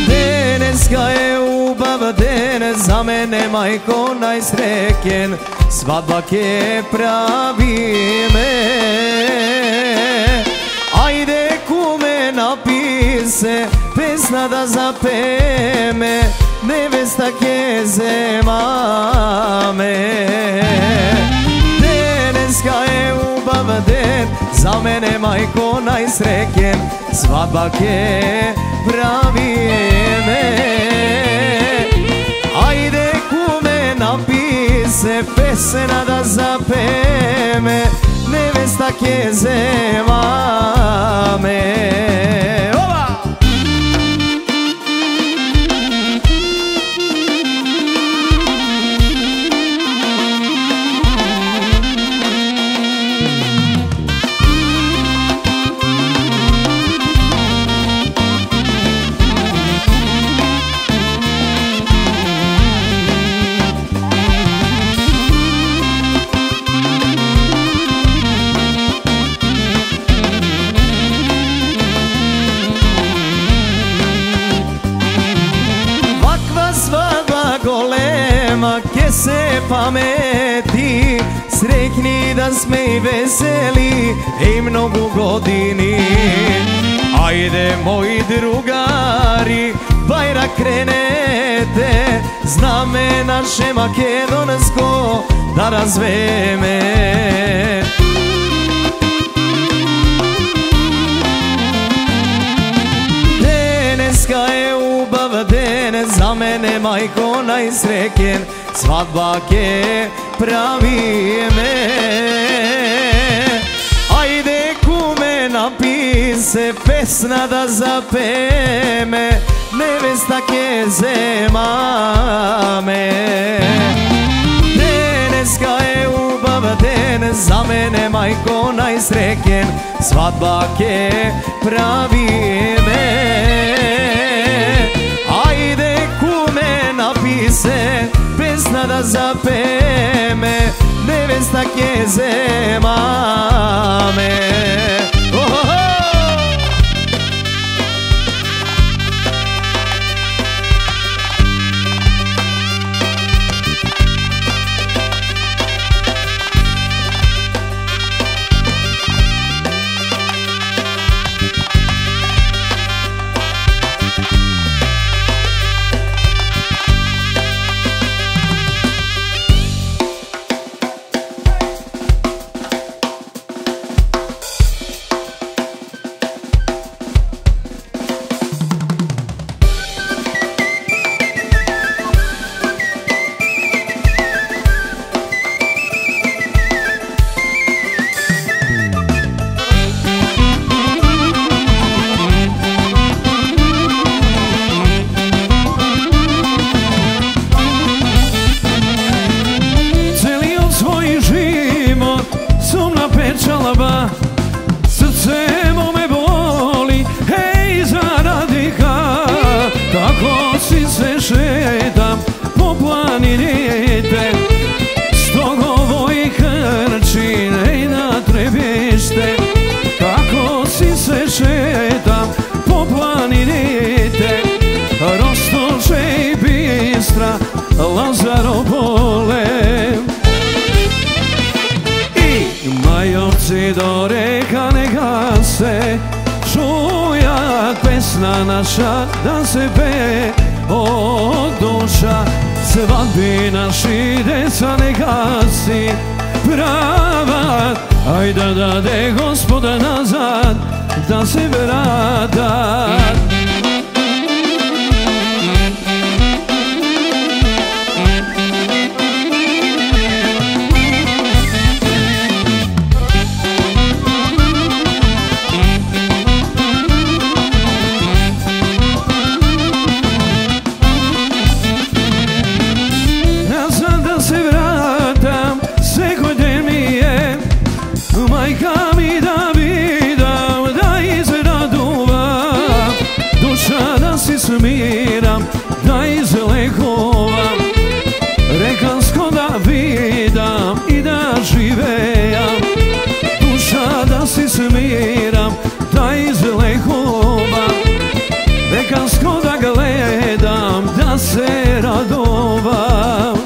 [SPEAKER 1] Денеска е убав ден, за мене мајко најсреќен, свадба ке правиме. Ајде куме написе, песна да запеме, невеста ке земаме. Денеска е убав ден, за мене мајко најсреќен, свадба ке правиме. Ајде куме написе, песна да запеме, невеста ке земаме. Ова! Ваква свадба голема ке се памети, среќни да сме и весели и многу години. Ајде мои другари, бајрак кренете, знаме наше македонско да развееме. Денеска е убав ден, за мене мајко најсреќен, свадба ке правиме. Ајде куме написе, песна да запеме, невеста ке земаме. Денеска е убав ден, за мене мајко најсреќен, свадба ке правиме. Ајде куме написе, песна да запеме, невеста невеста ке земаме.
[SPEAKER 20] Lazaro Bolem I majovci do reka neka se čuja pesna naša da se pe od duša svadbi naši deca neka si prava aj da dade Gospoda nazad da se vrata. Smiram, da izlekovam, rekansko da vidam i da živejam. Duša da si smiram, da izlekovam, rekansko da gledam, da se radovam.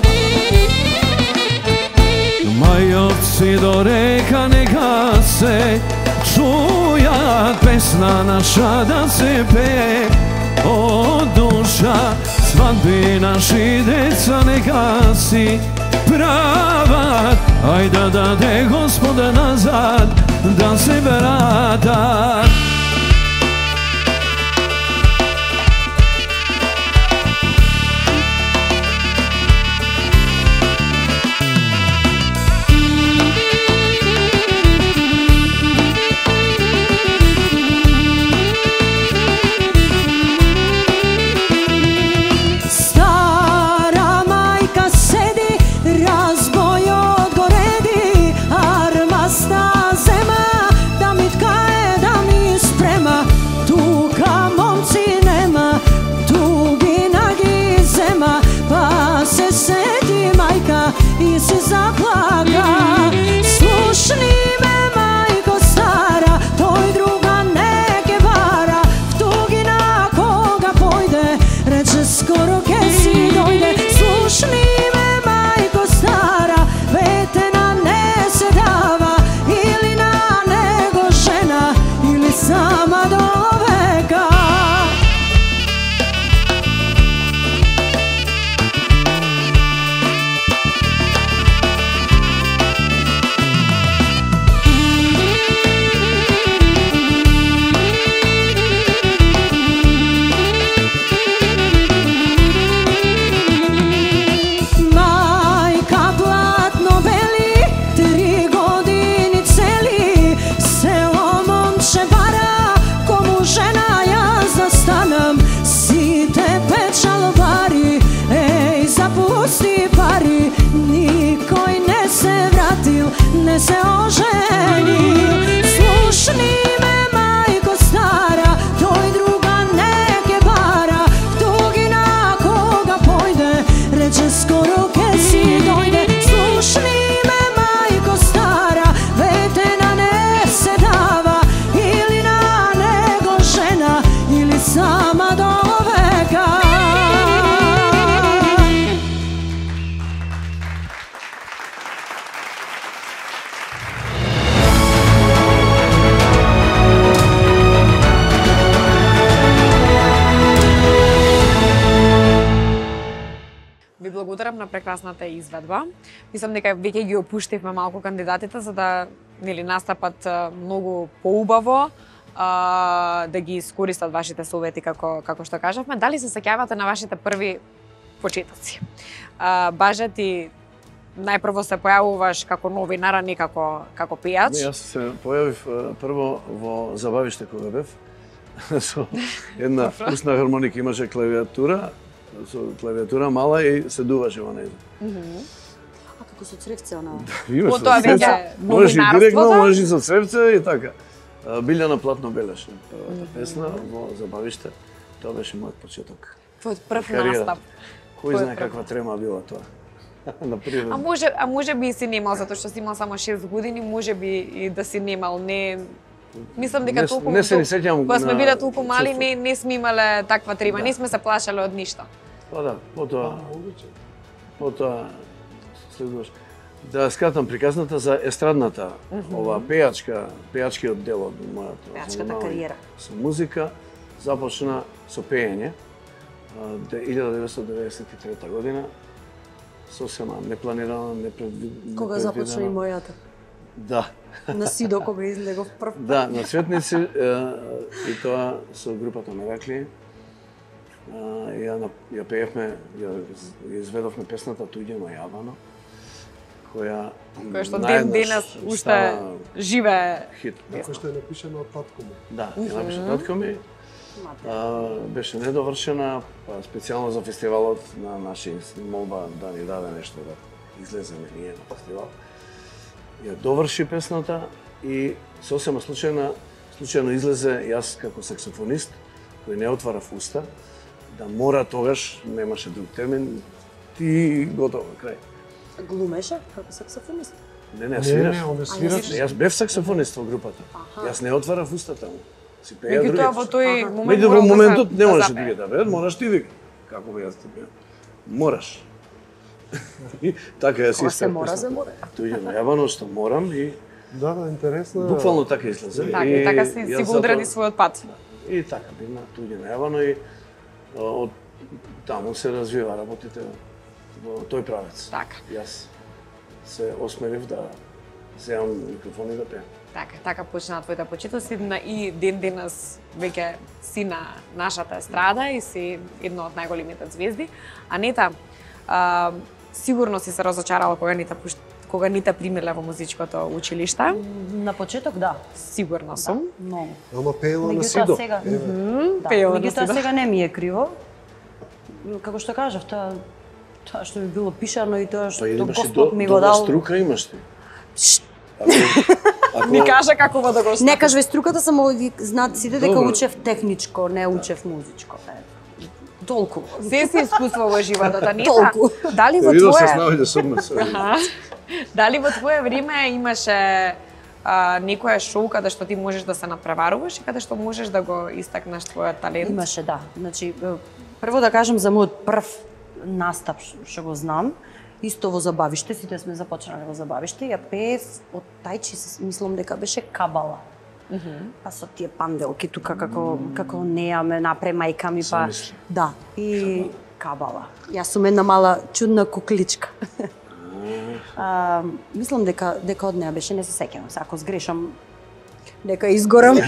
[SPEAKER 20] Majovci do reka neka se čuja pesna naša da se pe od duša svadbi naši deca neka si prava aj da dade Gospoda nazad da se vrata. I si zaplaka, slušni me majko stara, toj druga neke vara, v tugi na koga pojde, reče skoro ke si dojde. Slušni me majko stara, vetena ne se dava, ili na nego žena, ili sama do veka. Ne se oženi, slušni me majko stara, toj druga neke bara, tugi na koga pojde, reče skoro ke si dojde. Slušni me majko
[SPEAKER 2] благодарам на прекрасната изведба. Мислам дека веќе ги опуштивме малку кандидатите за да нели настапат многу поубаво, а, да ги искористат вашите совети како како што кажавме. Дали се сеќавате на вашите први почетоци? А, Баже, ти најпрво се појавуваш како новинар, а не како како пејач.
[SPEAKER 4] Не, јас се појавив прво во забавиште кога бев. Со една устна хармоника, имаше клавиатура, со клавиатура мала и се дуваше во неја.
[SPEAKER 6] А како со цревце она?
[SPEAKER 4] Имаш со цревце, можеш и директно, можеш и со цревце и така. Билјана Платно белеше првата песна во забавиште. Тоа беше мојот почеток.
[SPEAKER 2] Твојот прв настап.
[SPEAKER 4] Кој знае каква трема била тоа? На
[SPEAKER 2] А може, а може би и си немал, затоа што си имал само шест години, може би и да си немал, не... Мислам дека толку...
[SPEAKER 4] Не се ни сеќам...
[SPEAKER 2] Кога сме биле толку мали, не, не сме имале таква трема, не сме се плашале од ништо.
[SPEAKER 4] Па да, потоа... Потоа... Следуваш. Да скратам приказната за естрадната, ова пејачка, пејачкиот дел од мојата...
[SPEAKER 6] Пејачката кариера.
[SPEAKER 4] Со музика започна со пеење, илјада деветстотини деветдесет и трета година, сосема непланирано, непредвидено.
[SPEAKER 6] Кога започна и мојата?
[SPEAKER 4] Да.
[SPEAKER 6] На Сидо кога излегов прв.
[SPEAKER 4] Да, на Цветници и тоа со групата Меракли. Ја ја пеевме, ја изведовме песната Туѓено јавано, која
[SPEAKER 2] која што ден денес уште живее
[SPEAKER 4] хит.
[SPEAKER 7] Која што е напишана од татко ми.
[SPEAKER 4] Да, ја напиша татко ми. А, беше недовршена, па специјално за фестивалот на наши молба да ни даде нешто да излеземе ние на фестивал. Ја доврши песната и сосема случајно, случајно излезе јас како саксофонист, кој не отварав уста, да мора тогаш, немаше друг термин, ти готово, крај.
[SPEAKER 6] Глумеше како саксофонист?
[SPEAKER 4] Не, не, свираш.
[SPEAKER 7] Не, не, он свираш.
[SPEAKER 4] Јас бев саксофонист во групата. Јас не отварав уста таму. Си пеја другите.
[SPEAKER 2] Меѓутоа во тој момент
[SPEAKER 4] Меѓу во
[SPEAKER 2] морал да
[SPEAKER 4] моментот
[SPEAKER 2] се-
[SPEAKER 4] не
[SPEAKER 2] да
[SPEAKER 4] можеш
[SPEAKER 2] запее.
[SPEAKER 4] ти да бе, мораш ти вика. Како би јас ти беа? Мораш. И така ја си
[SPEAKER 6] Кога се
[SPEAKER 4] истер
[SPEAKER 6] мора,
[SPEAKER 4] песната.
[SPEAKER 6] се мора.
[SPEAKER 4] Туѓено јавано што морам и
[SPEAKER 7] Да, да, интересно.
[SPEAKER 4] буквално така излезе.
[SPEAKER 2] Така, и така си, си
[SPEAKER 4] јас
[SPEAKER 2] го одреди
[SPEAKER 4] затоа-
[SPEAKER 2] својот пат.
[SPEAKER 4] И така бивна Туѓено јавано и а, од таму се развива работите во тој правец.
[SPEAKER 2] Така.
[SPEAKER 4] Јас се осмелив да земам микрофон и да пеам.
[SPEAKER 2] Така, така почнаа твоите почетоци на и ден денес веќе си на нашата естрада и си една од најголемите звезди. Анета, а, сигурно си се разочарала кога не те пуш- кога не те примиле во музичкото училиште.
[SPEAKER 6] На почеток да.
[SPEAKER 2] Сигурно сум.
[SPEAKER 6] Многу.
[SPEAKER 7] Ама пеела на
[SPEAKER 6] Меѓутоа
[SPEAKER 7] Сидо.
[SPEAKER 6] сега,
[SPEAKER 7] Еве.
[SPEAKER 6] да,
[SPEAKER 2] пеела на
[SPEAKER 6] меѓутоа
[SPEAKER 2] Сидо.
[SPEAKER 6] сега не ми е криво. Како што кажав, тоа тоа што ми било пишано и тоа
[SPEAKER 4] Па
[SPEAKER 6] што
[SPEAKER 4] имаш и
[SPEAKER 6] Господ
[SPEAKER 4] до,
[SPEAKER 6] ми го
[SPEAKER 4] добра
[SPEAKER 6] дал.
[SPEAKER 4] струка имаш ти. Ако,
[SPEAKER 2] Ми кажа како во да го
[SPEAKER 6] Не кажувај струката, само ви знаат сите дека
[SPEAKER 4] Добро.
[SPEAKER 6] учев техничко, не учев музичко. Е, толку.
[SPEAKER 2] Се си искуство во животот, Анета.
[SPEAKER 6] Толку.
[SPEAKER 2] Дали во
[SPEAKER 4] Видов се
[SPEAKER 2] твое
[SPEAKER 4] снаоѓа со мене.
[SPEAKER 2] Аха. Дали во твое време имаше а, некоја шоу каде што ти можеш да се надпреваруваш и каде што можеш да го истакнеш твојот талент?
[SPEAKER 6] Имаше, да. Значи, е, прво да кажам за мојот прв настап ш- што го знам, исто во забавиште, сите сме започнале во забавиште, ја пеев од тајчи, се- мислам дека беше Кабала. Па со тие панделки тука како како неа ме напре мајка ми па
[SPEAKER 4] Замисли.
[SPEAKER 6] да и Кабала. Јас сум една мала чудна кукличка. А, мислам дека дека од неа беше, не се сеќавам се, ако сгрешам дека изгорам.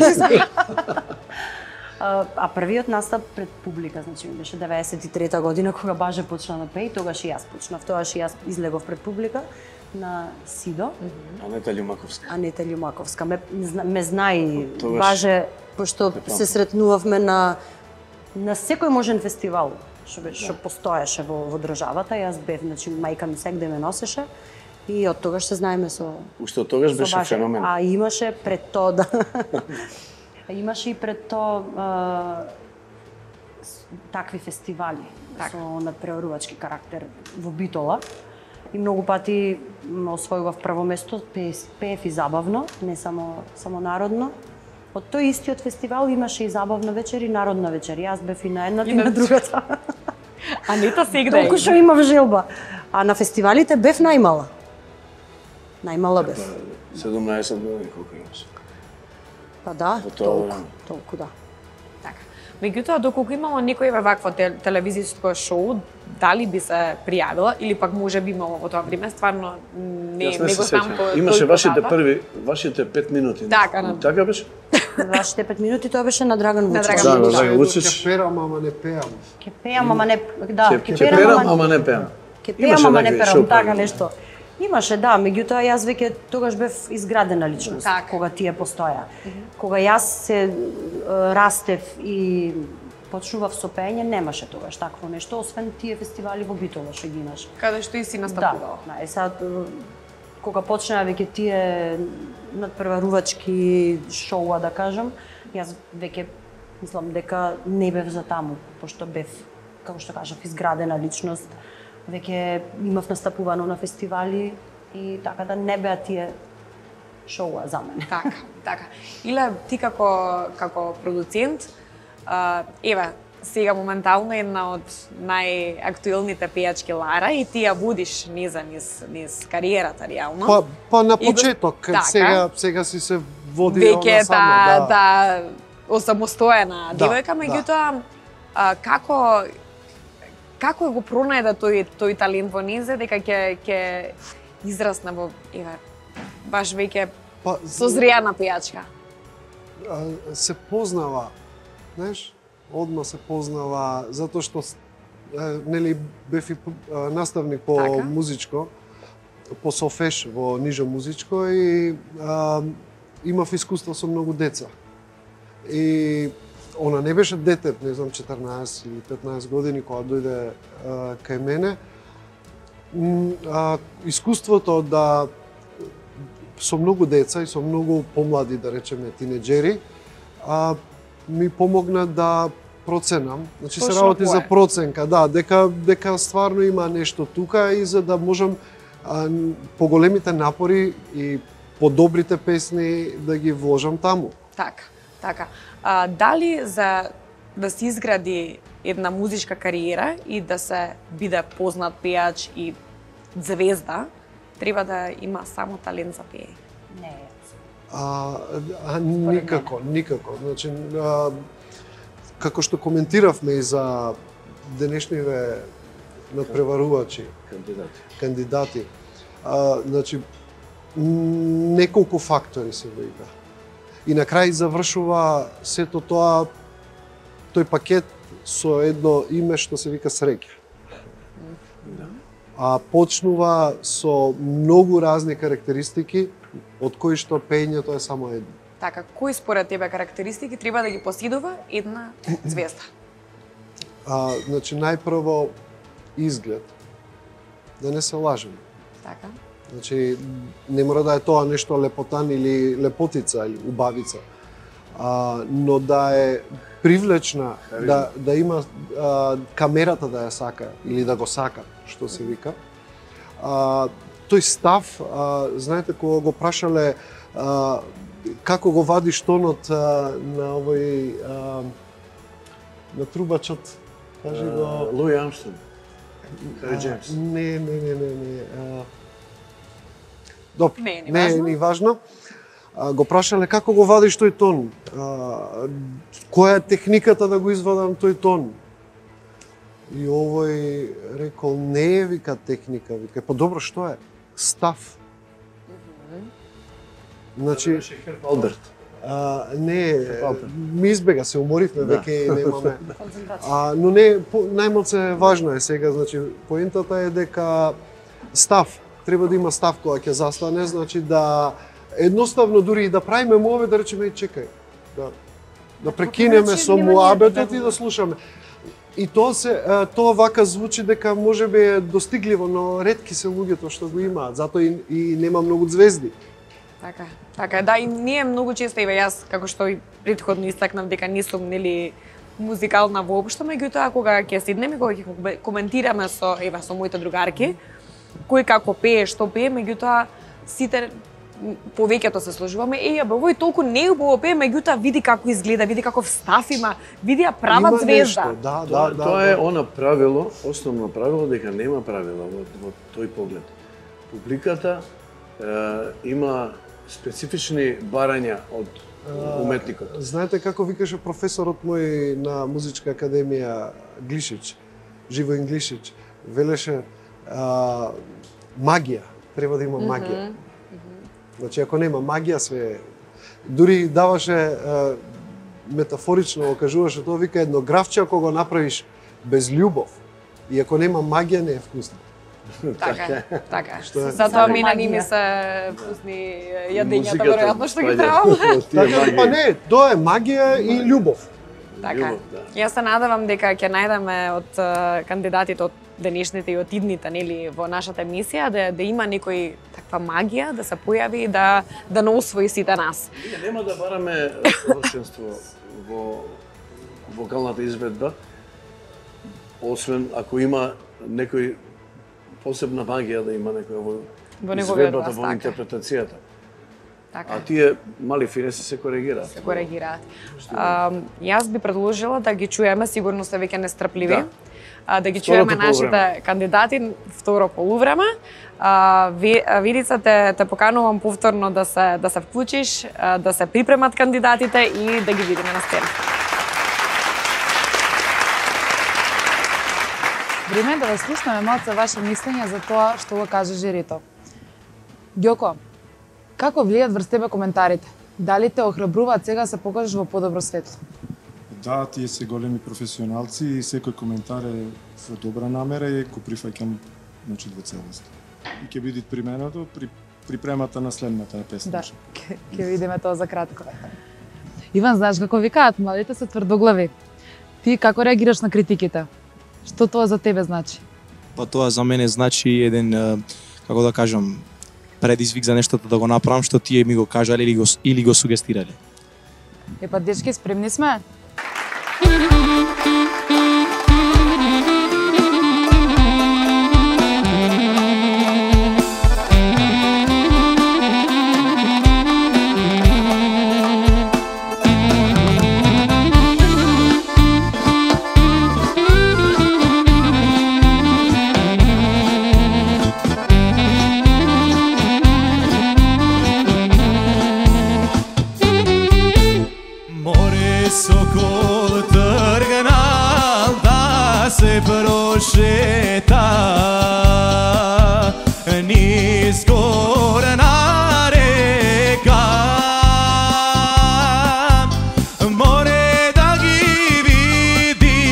[SPEAKER 6] А, а првиот настап пред публика, значи ми беше деветдесет и трета година кога Баже почна да пее, тогаш и јас почнав, тогаш и јас излегов пред публика на Сидо.
[SPEAKER 4] Анета Љумаковска.
[SPEAKER 6] Анета Љумаковска ме, зна- ме знае и
[SPEAKER 4] Тогаш
[SPEAKER 6] Баже, пошто
[SPEAKER 4] те памтам.
[SPEAKER 6] се сретнувавме на на секој можен фестивал што беше што постоеше во во државата. Јас бев, значи мајка ми секде ме носеше и од тогаш се знаеме со
[SPEAKER 4] Уште од тогаш
[SPEAKER 6] со
[SPEAKER 4] беше
[SPEAKER 6] Баже.
[SPEAKER 4] феномен.
[SPEAKER 6] А имаше пред тоа да имаше и пред тоа а, с- такви фестивали со надпреварувачки карактер во Битола. И многу пати м, освојував прво место, пеев, пеев и забавно, не само само народно. Од тој истиот фестивал имаше и забавна вечер и народна вечер. Јас бев и на едната и на другата.
[SPEAKER 2] Анета сегде.
[SPEAKER 6] Толку што имав желба. А на фестивалите бев најмала. Најмала бев.
[SPEAKER 4] седумнаесет години колку имаш.
[SPEAKER 6] Па да,
[SPEAKER 4] Во тоа
[SPEAKER 6] толку,
[SPEAKER 4] време.
[SPEAKER 6] толку да.
[SPEAKER 2] Така. Меѓутоа, доколку имало некој вакво телевизиско шоу, дали би се пријавила или пак може би имало во тоа време, стварно не
[SPEAKER 4] Јас
[SPEAKER 2] не
[SPEAKER 4] не
[SPEAKER 2] го
[SPEAKER 4] се
[SPEAKER 2] знам
[SPEAKER 4] сеќам.
[SPEAKER 2] по
[SPEAKER 4] Имаше
[SPEAKER 2] тој
[SPEAKER 4] вашите
[SPEAKER 2] податок.
[SPEAKER 4] први, вашите пет минути.
[SPEAKER 2] Така, на-
[SPEAKER 4] Така беше?
[SPEAKER 6] Вашите пет минути тоа беше на Драган
[SPEAKER 2] На
[SPEAKER 6] Вучич.
[SPEAKER 2] Драган
[SPEAKER 4] Да, на
[SPEAKER 2] Вучич.
[SPEAKER 4] Драган Вучич.
[SPEAKER 7] Ќе перам, ама не пеам.
[SPEAKER 6] Ке пеам, ама не да,
[SPEAKER 4] Ќе
[SPEAKER 6] ке
[SPEAKER 4] ќе перам, ама не пеам.
[SPEAKER 6] Ке пеам,
[SPEAKER 4] Имаше
[SPEAKER 6] ама не
[SPEAKER 4] такви
[SPEAKER 6] перам,
[SPEAKER 4] шоу
[SPEAKER 6] така
[SPEAKER 4] програми.
[SPEAKER 6] нешто. Имаше, да, меѓутоа јас веќе тогаш бев изградена личност,
[SPEAKER 2] Така.
[SPEAKER 6] кога тие постоја. Кога јас се е, растев и почнував со пеење, немаше тогаш такво нешто, освен тие фестивали во Битола што ги имаш.
[SPEAKER 2] Каде што и си настапувал.
[SPEAKER 6] Да, да, е сад кога почнаа веќе тие надпреварувачки шоуа, да кажам, јас веќе мислам дека не бев за таму, пошто бев, како што кажав, изградена личност. Веќе имав настапувано на фестивали и така да не беа тие шоуа за мене.
[SPEAKER 2] Така, така. Иле, ти како, како продуцент, а, еве, сега моментално една од најактуелните пејачки Лара и ти ја водиш низа низ, низ кариерата реално.
[SPEAKER 7] Па, па на
[SPEAKER 2] И го-
[SPEAKER 7] почеток,
[SPEAKER 2] така.
[SPEAKER 7] сега сега си се води
[SPEAKER 2] Веќе
[SPEAKER 7] она само,
[SPEAKER 2] та,
[SPEAKER 7] да.
[SPEAKER 2] та осамостоена
[SPEAKER 7] Да,
[SPEAKER 2] девојка,
[SPEAKER 7] да.
[SPEAKER 2] меѓутоа а, како како го пронајде тој тој талент во незе дека ќе ќе израсне во еве баш веќе
[SPEAKER 7] Па,
[SPEAKER 2] созреана пејачка.
[SPEAKER 7] а, се познава, знаеш, одма се познава, затоа што с- е, нели бев и а, наставник по
[SPEAKER 2] Така.
[SPEAKER 7] музичко, по софеш во нижо музичко и а, имав искуство со многу деца. И она не беше дете, не знам, четрнаесет или петнаесет години кога дојде а, кај мене. М, а, искуството да со многу деца и со многу помлади, да речеме, тинеџери, а, ми помогна да проценам. Значи се
[SPEAKER 2] Точно
[SPEAKER 7] работи за
[SPEAKER 2] кое?
[SPEAKER 7] проценка, да, дека дека стварно има нешто тука и за да можам а, поголемите напори и подобрите песни да ги вложам таму.
[SPEAKER 2] Така, така. А, дали за да се изгради една музичка кариера и да се биде познат пејач и звезда, треба да има само талент за пеење?
[SPEAKER 6] Не.
[SPEAKER 7] А, а никако, никако. Значи, а, како што коментиравме и за денешниве надпреварувачи,
[SPEAKER 4] Кандидати.
[SPEAKER 7] кандидати, а, значи, м, неколку фактори се вика. И на крај завршува сето тоа, тој пакет со едно име што се вика среќа. А почнува со многу разни карактеристики, од кои што пеењето е само едно.
[SPEAKER 2] Така, кои според тебе карактеристики треба да ги поседува една звезда?
[SPEAKER 7] А, значи, најпрво изглед. Да не се лажеме.
[SPEAKER 2] Така.
[SPEAKER 7] Значи, не мора да е тоа нешто лепотан или лепотица или убавица, а, но да е привлечна, да, да има а, камерата да ја сака или да го сака, што се вика. А, тој став, а, знаете, кога го прашале а, како го вадиш тонот а, на овој а, на трубачот, кажи го.
[SPEAKER 4] Луи Армстронг. Хари
[SPEAKER 7] А,
[SPEAKER 4] Джеймс.
[SPEAKER 7] Не, не, не, не, не. А... Добро,
[SPEAKER 2] Не е ни
[SPEAKER 7] не е
[SPEAKER 2] важно.
[SPEAKER 7] ни важно. А, го прашале како го вадиш тој тон? А, која е техниката да го извадам тој тон? И овој рекол, не е, вика, техника, вика, па добро, што е? Став. Значи,
[SPEAKER 4] Алберт.
[SPEAKER 7] А, не,
[SPEAKER 4] Алберт.
[SPEAKER 7] ми избега, се уморивме
[SPEAKER 4] Да.
[SPEAKER 7] веќе и немаме. А, но не, по, најмалце важно е сега, значи, поентата е дека став, треба да има став кога ќе застане, значи да едноставно дури и да правиме мове, да речеме, чекај, да, да прекинеме
[SPEAKER 2] начин
[SPEAKER 7] со
[SPEAKER 2] нема
[SPEAKER 7] муабетот
[SPEAKER 2] да
[SPEAKER 7] и
[SPEAKER 2] го-
[SPEAKER 7] да слушаме. И тоа се а, тоа вака звучи дека можеби е достигливо, но ретки се луѓето што го имаат, затоа и, и нема многу звезди.
[SPEAKER 2] Така, така, да, и ние многу често, еве јас, како што и претходно истакнав, дека не сум, нели, музикална воопшто, меѓутоа, кога ќе седнеме, кога ќе коментираме со, еве, со моите другарки, кој како пее, што пее, меѓутоа, сите м, повеќето се сложуваме, е, бе, овој толку неубаво пее, меѓутоа, види како изгледа, види каков став има, види ја прават
[SPEAKER 7] Има
[SPEAKER 2] звезда.
[SPEAKER 7] нешто, да,
[SPEAKER 4] Тоа,
[SPEAKER 7] да, да.
[SPEAKER 4] тоа
[SPEAKER 7] да.
[SPEAKER 4] е она правило, основно правило дека нема правила во, во тој поглед. Публиката е, има специфични барања од уметникот.
[SPEAKER 7] Знаете како викаше професорот мој на музичка академија Глишич, Живоин Глишич, велеше а, магија, треба да има магија. Mm -hmm. Значи ако нема магија све дури даваше а, метафорично го кажуваше тоа, вика едно графче ако го направиш без љубов и ако нема магија не е вкусно.
[SPEAKER 2] Така, така. Затоа мене не ми се вкусни јадењата веројатно што ги требам.
[SPEAKER 7] Така, па не, тоа е магија и љубов.
[SPEAKER 2] Така. Јас се надевам дека ќе најдеме од кандидатите од денешните и од идните, нели, во нашата емисија да да има некој таква магија да се појави да да не освои сите нас.
[SPEAKER 4] Нема да бараме совршенство во вокалната изведба, освен ако има некој посебна магија да има некој во,
[SPEAKER 2] во
[SPEAKER 4] изведбата, во интерпретацијата.
[SPEAKER 2] Така.
[SPEAKER 4] А тие мали финеси се коригираат.
[SPEAKER 2] Се коригираат. А, јас би предложила да ги чуеме, сигурно се веќе нестрпливи. Да. А, да ги
[SPEAKER 4] Второто
[SPEAKER 2] чуеме нашите
[SPEAKER 4] полувреме.
[SPEAKER 2] кандидати второ полувреме. А, Видица те те поканувам повторно да се да се вклучиш, а, да се припремат кандидатите и да ги видиме на сцена.
[SPEAKER 3] Време е да ве слушнеме малце ваше мислење за тоа што го кажа жирито. Ѓоко, како влијат врз тебе коментарите? Дали те охрабруваат сега се покажеш во подобро светло?
[SPEAKER 19] Да, тие се големи професионалци и секој коментар е во добра намера и го прифаќам, значи, во целост. И ќе биде применато при припремата на следната песна.
[SPEAKER 3] Да, ќе видиме тоа за кратко. Иван, знаеш како викаат, младите се тврдоглави. Ти како реагираш на критиките? Што тоа за тебе значи?
[SPEAKER 21] Па тоа за мене значи еден, како да кажам, предизвик за нештото да го направам што тие ми го кажале или го, или го сугестирале.
[SPEAKER 3] Епа, дечки, спремни сме?
[SPEAKER 1] Sokol trgnal da se prošeta niz gorna reka, more da gi vidi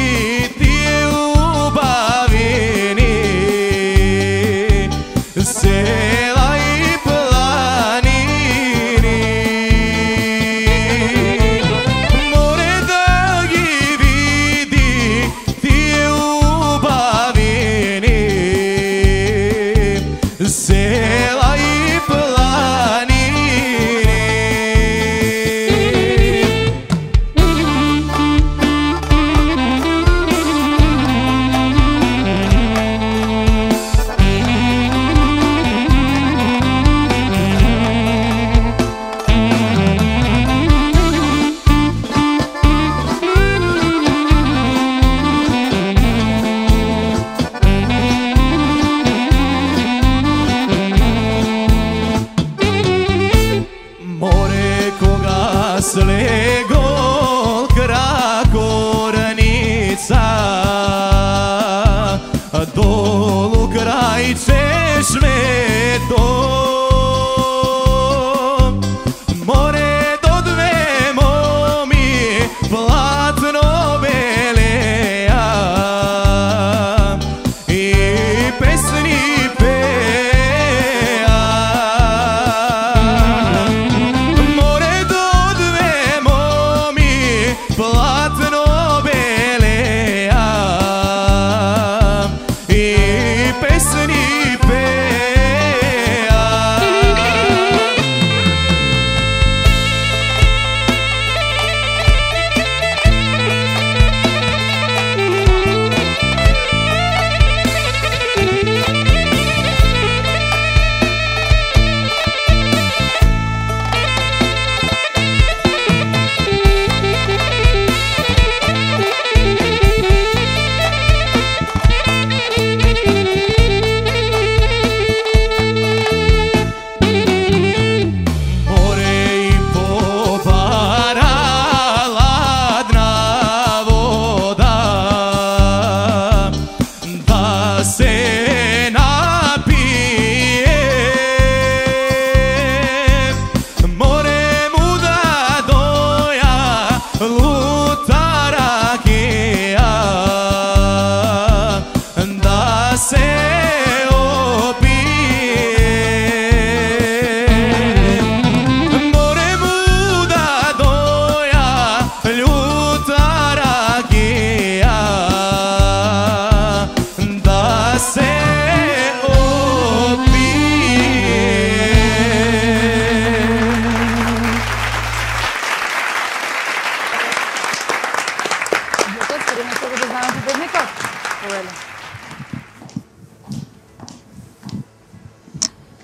[SPEAKER 1] ti ubavini sela i planini. Sela i planini. Slego krakornica dolu kraj češnje to more do dve momi platno beleja i pesni platno beleja i pesni peja.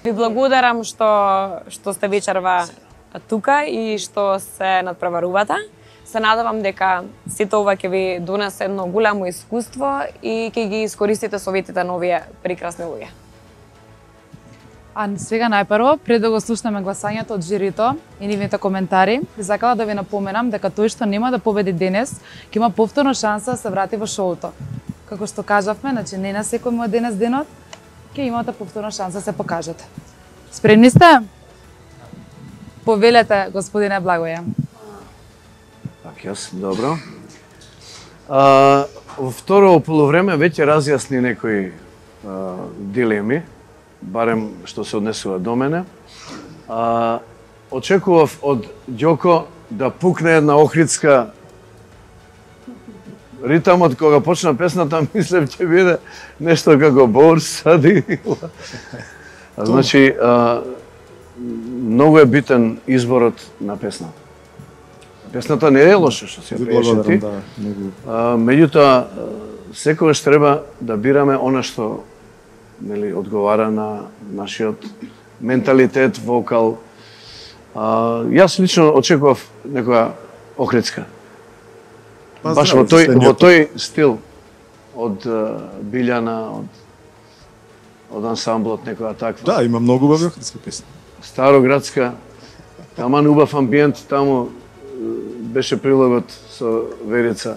[SPEAKER 2] Ви благодарам што што сте вечерва тука и што се надпреварувате. Се надевам дека сите ова ќе ви донесе едно голямо искуство и ќе ги искористите советите на овие прекрасни луѓе.
[SPEAKER 3] А сега најпрво, пред да го слушнеме гласањето од жирито и нивните коментари, би сакала да ви напоменам дека тој што нема да победи денес, ќе има повторно шанса да се врати во шоуто. Како што кажавме, значи не на секој му е денес денот, ќе имате повторно шанса да се покажете. Спремни сте? Повелете, господине Благоје.
[SPEAKER 4] Так, јас, добро. А, во второ полувреме веќе разјасни некои а, дилеми, барем што се однесува до мене. А, очекував од Ѓоко да пукне една охридска ритамот кога почна песната, мислев ќе биде нешто како Бор сади. Значи, а, многу е битен изборот на песната. Песната не е лоша што се приеше ти.
[SPEAKER 19] Да,
[SPEAKER 4] меѓутоа, секогаш треба да бираме она што нели одговара на нашиот менталитет, вокал. А, јас лично очекував некоја охридска.
[SPEAKER 19] Па,
[SPEAKER 4] Баш во тој во тој стил од uh, Билјана, од од ансамблот некоја таква.
[SPEAKER 19] Да, има многу убави охридски песни.
[SPEAKER 4] Староградска, таман убав амбиент, таму беше прилогот со Верица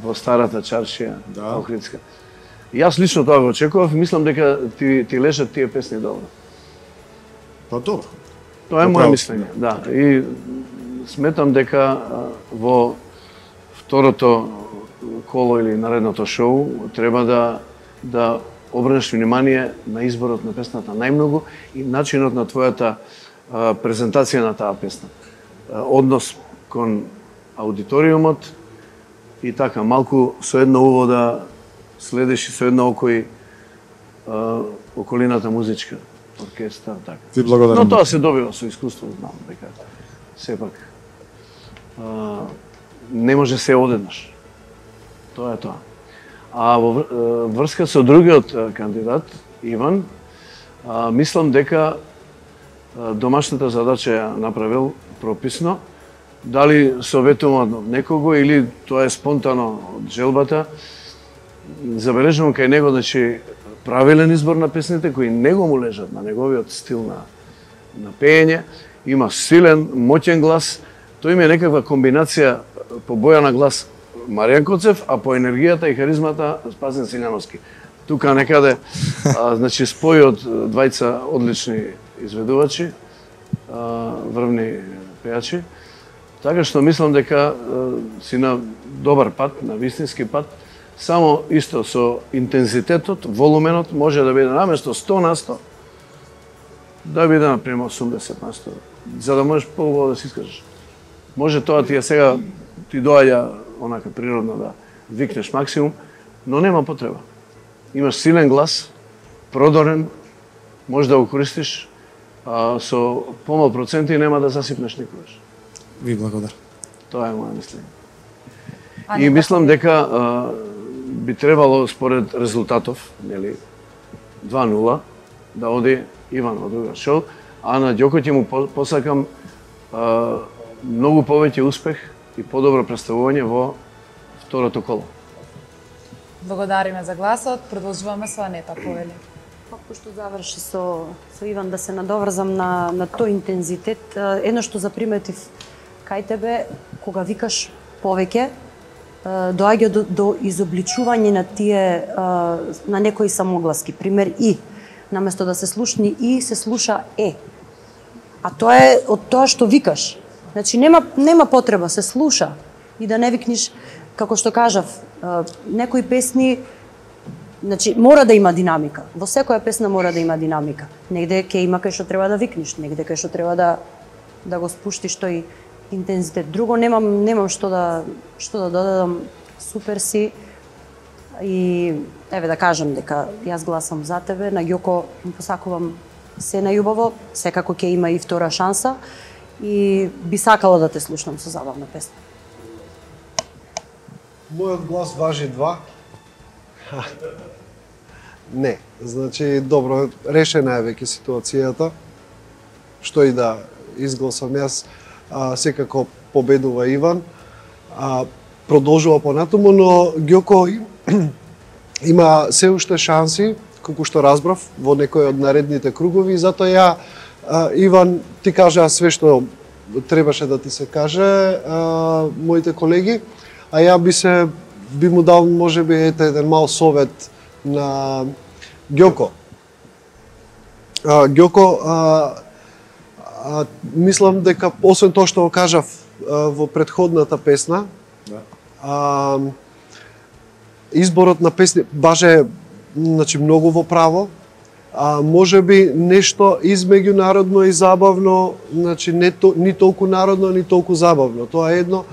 [SPEAKER 4] во старата чаршија, да. Охридска. Јас лично тоа го очекував и мислам дека ти, ти лежат тие песни добро.
[SPEAKER 19] Па добро.
[SPEAKER 4] Тоа е моје мислење, да. И сметам дека во второто коло или наредното шоу треба да да обрнеш внимание на изборот на песната најмногу и начинот на твојата а, презентација на таа песна. А, однос кон аудиториумот и така малку со едно уво да следиш и со едно око и а, околината музичка, оркестар, така.
[SPEAKER 19] Ти благодарам.
[SPEAKER 4] Но тоа се добива со искуство, знам дека сепак а, не може се одеднаш. Тоа е тоа. А во врска со другиот кандидат, Иван, а, мислам дека домашната задача ја направил прописно. Дали советувам од некого или тоа е спонтано од желбата, забележувам кај него, значи, правилен избор на песните кои него му лежат на неговиот стил на, на пеење. Има силен, моќен глас. Тој има некаква комбинација по боја на глас Маријан Коцев, а по енергијата и харизмата Спасен Силјановски. Тука некаде, а, значи, спој од двајца одлични изведувачи, а, врвни пејачи. Така што мислам дека а, си на добар пат, на вистински пат. Само исто со интензитетот, волуменот може да биде наместо сто на сто, да биде например осумдесет на сто, за да можеш по-убаво да се искажеш. Може тоа ти е сега, ти доаѓа онака природно да викнеш максимум, но нема потреба. Имаш силен глас, продорен, може да го користиш, а со помал проценти нема да засипнеш никогаш.
[SPEAKER 21] Ви благодарам.
[SPEAKER 4] Тоа е моја мислење. И мислам дека а, би требало според резултатов, нели, два нула, да оди Иван во друга шоу, а на Ѓоко ќе му посакам а, многу повеќе успех и подобро представување во второто коло.
[SPEAKER 3] Благодариме за гласот. Продолжуваме со Анета, повели.
[SPEAKER 6] Пошто заврши со, со Иван, да се надоврзам на, на тој интензитет. Едно што заприметив кај тебе, кога викаш повеќе, доаѓа до, до изобличување на тие, на некои самогласки. Пример И. Наместо да се слушни И, се слуша Е. А тоа е од тоа што викаш. Значи, нема, нема потреба, се слуша. И да не викниш, како што кажав, некои песни, значи, мора да има динамика. Во секоја песна мора да има динамика. Негде ќе има кај што треба да викнеш, негде кај што треба да да го спуштиш тој интензитет. Друго немам немам што да што да додадам. Супер си. И еве да кажам дека јас гласам за тебе, на Ѓоко му посакувам се најубаво, секако ќе има и втора шанса и би сакала да те слушнам со забавна песна.
[SPEAKER 7] Мојот глас важи два. Не, значи добро, решена е веќе ситуацијата. Што и да изгласам јас, а, секако победува Иван. А, продолжува понатаму, но Ѓоко има се уште шанси, колку што разбрав, во некој од наредните кругови, и затоа ја, а, Иван, ти кажа све што требаше да ти се каже, а, моите колеги, а ја би се би му дал можеби ете еден мал совет на Ѓоко. А, Ѓоко, а, а, мислам дека освен тоа што го кажав а, во претходната песна, да. а, изборот на песни баже значи многу во право, а можеби нешто измеѓу народно и забавно, значи не то, ни толку народно, ни толку забавно. Тоа е едно,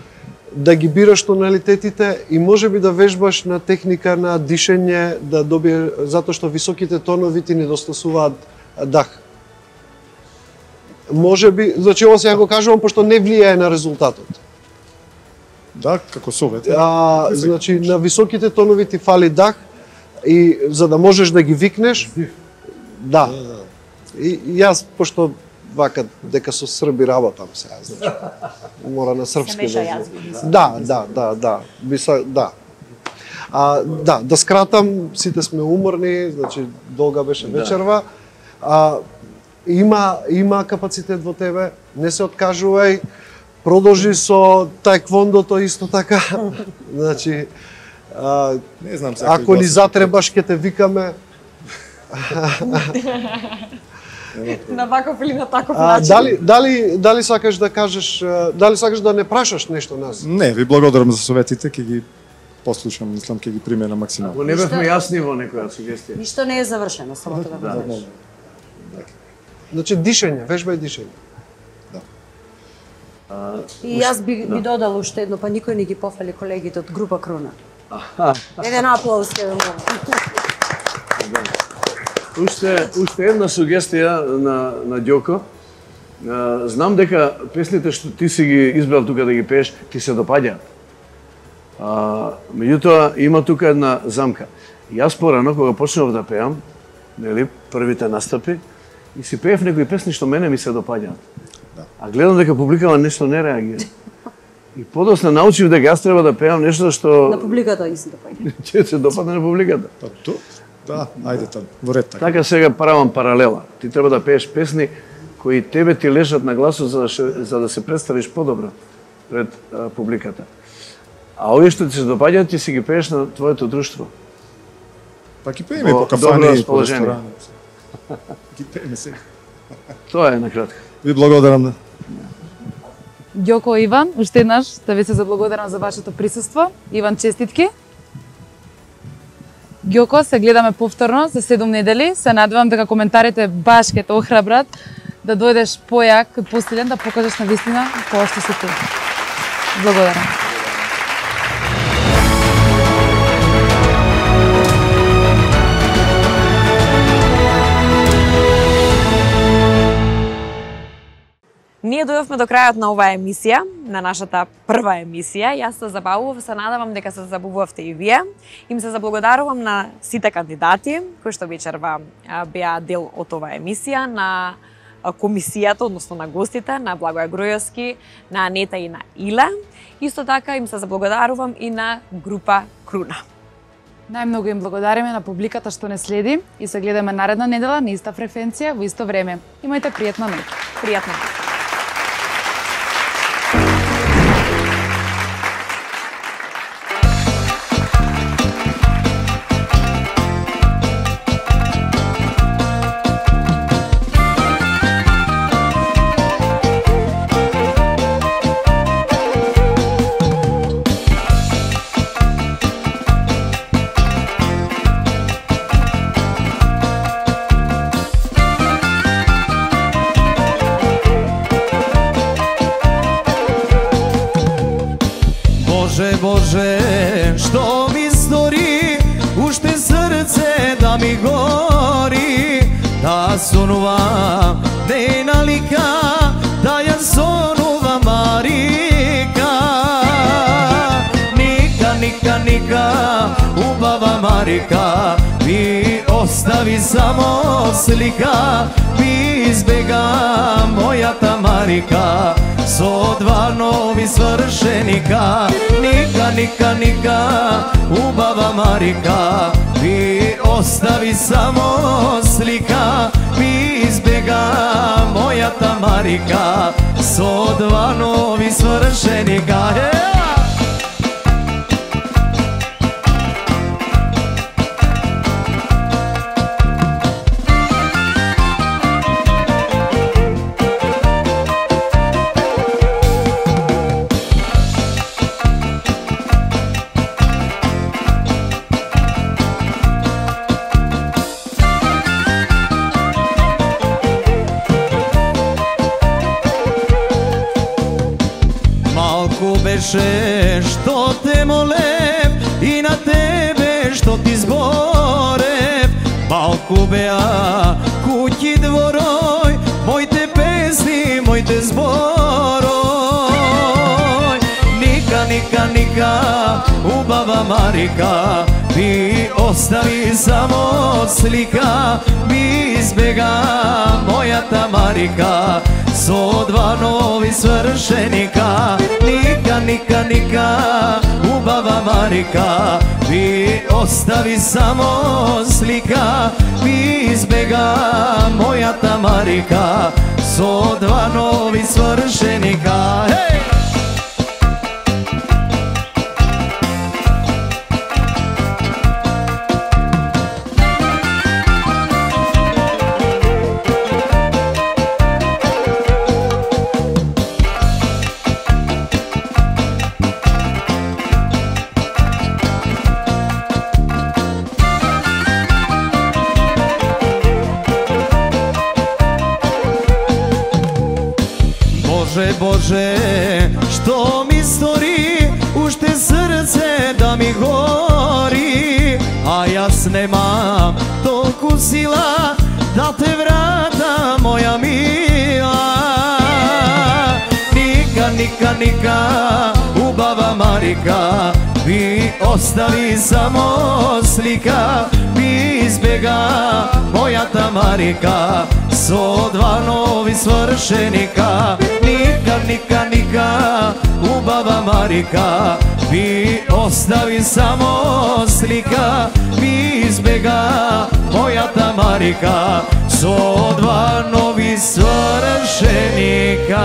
[SPEAKER 7] да ги бираш тоналитетите и можеби да вежбаш на техника на дишење, да добие, затоа што високите тонови ти недостасуваат дах. Можеби, значи ова сега го кажувам пошто не влијае на резултатот.
[SPEAKER 19] Да, како совет.
[SPEAKER 7] А, значи на високите тонови ти фали дах и за да можеш да ги викнеш, да. И, и јас пошто вака дека со срби работам сега, значи. Мора на српски да. Да, да, да, да. Биса, да. А, да, да скратам, сите сме уморни, значи долга беше вечерва. А, има има капацитет во тебе, не се откажувај. Продолжи со таеквондото исто така. Значи а,
[SPEAKER 19] не знам се
[SPEAKER 7] ако ни затребаш ќе те викаме.
[SPEAKER 2] На ваков или на таков
[SPEAKER 7] А,
[SPEAKER 2] начин.
[SPEAKER 7] дали дали дали сакаш да кажеш, дали сакаш да не прашаш нешто нас?
[SPEAKER 19] Не, ви благодарам за советите, ќе ги послушам, мислам ќе ги применам максимално.
[SPEAKER 4] Ако не бевме јасни во некоја сугестија.
[SPEAKER 6] Ништо не е завршено, само тоа да знаеш.
[SPEAKER 7] Значи дишење, вежбај дишење.
[SPEAKER 19] Да.
[SPEAKER 7] А,
[SPEAKER 6] И јас би,
[SPEAKER 7] да.
[SPEAKER 6] би додал уште едно, па никој не ги пофали колегите од група Круна.
[SPEAKER 7] Аха.
[SPEAKER 6] Еден аплауз ке да
[SPEAKER 4] Уште уште една сугестија на на Ѓоко. Знам дека песните што ти си ги избрал тука да ги пееш, ти се допаѓаат. А, меѓутоа има тука една замка. Јас порано кога почнав да пеам, нели, првите настапи, и си пеев некои песни што мене ми се допаѓаат.
[SPEAKER 19] Да.
[SPEAKER 4] А гледам дека публикава нешто не реагира. И подосна научив дека јас треба да пеам нешто што
[SPEAKER 6] На публиката и се допаѓа.
[SPEAKER 4] ќе се допадне на публиката.
[SPEAKER 19] Па то, да, ајде тоа, во ред така.
[SPEAKER 4] Така сега правам паралела. Ти треба да пееш песни кои тебе ти лежат на гласот за да, ше, за да се представиш подобро пред а, публиката. А овие што ти се допаѓаат, ти си ги пееш на твоето друштво.
[SPEAKER 19] Па ги пееме по кафани и по ресторани. Ги пееме се.
[SPEAKER 4] Тоа е накратко.
[SPEAKER 19] Ви благодарам.
[SPEAKER 3] Ѓоко Иван, уште еднаш да ви се заблагодарам за вашето присуство. Иван, честитки. Ѓоко, се гледаме повторно за седум недели. Се надевам дека коментарите баш ќе те охрабрат да дојдеш појак и посилен да покажеш на вистина тоа што си ти. Благодарам.
[SPEAKER 2] Ние дојдовме до крајот на оваа емисија, на нашата прва емисија. Јас се забавував, се надевам дека се забавувавте и вие. Им се заблагодарувам на сите кандидати кои што вечерва беа дел од оваа емисија, на комисијата, односно на гостите, на Благоја Гројовски, на Анета и на Иле. Исто така им се заблагодарувам и на група Круна.
[SPEAKER 3] Најмногу им благодариме на публиката што не следи и се гледаме наредна недела на иста фреквенција во исто време. Имајте пријатна ноќ.
[SPEAKER 2] Пријатна ноќ.
[SPEAKER 1] Bože, što mi stори, уште срце да ми гори, да сонувам нейна лика, да ја сонувам Марика. Ника, ника, ника, убава Марика. Марика, ми остави само слика, ми избега мојата Марика, со два нови свршеника. Ника, ника, ника, убава Марика, ми остави само слика, ми избега мојата Марика, со два нови свршеника. Беше што те молев и на тебе што ти зборев, малку беа куќи дворој, моите песни, моите зборој. Ника, ника, ника, убава Марика, ми остави само слика, ми избега мојата Марика, со два нови свршеника. Ника, ника, ника, убава Марика, ми остави само слика, ми избега мојата Марика, со два нови свршеника. Хеј! Боже, Боже, што ми стори, уште срце да ми гори, а јас немам толку сила да те вратам, моја мила. Ника, ника, ника, убава Марика, ми остави само слика, ми избега мојата Марика, со два нови свршеника. Ника, ника, ника, убава Марика, ми остави само слика, ми избега мојата Марика, со два нови свршеника.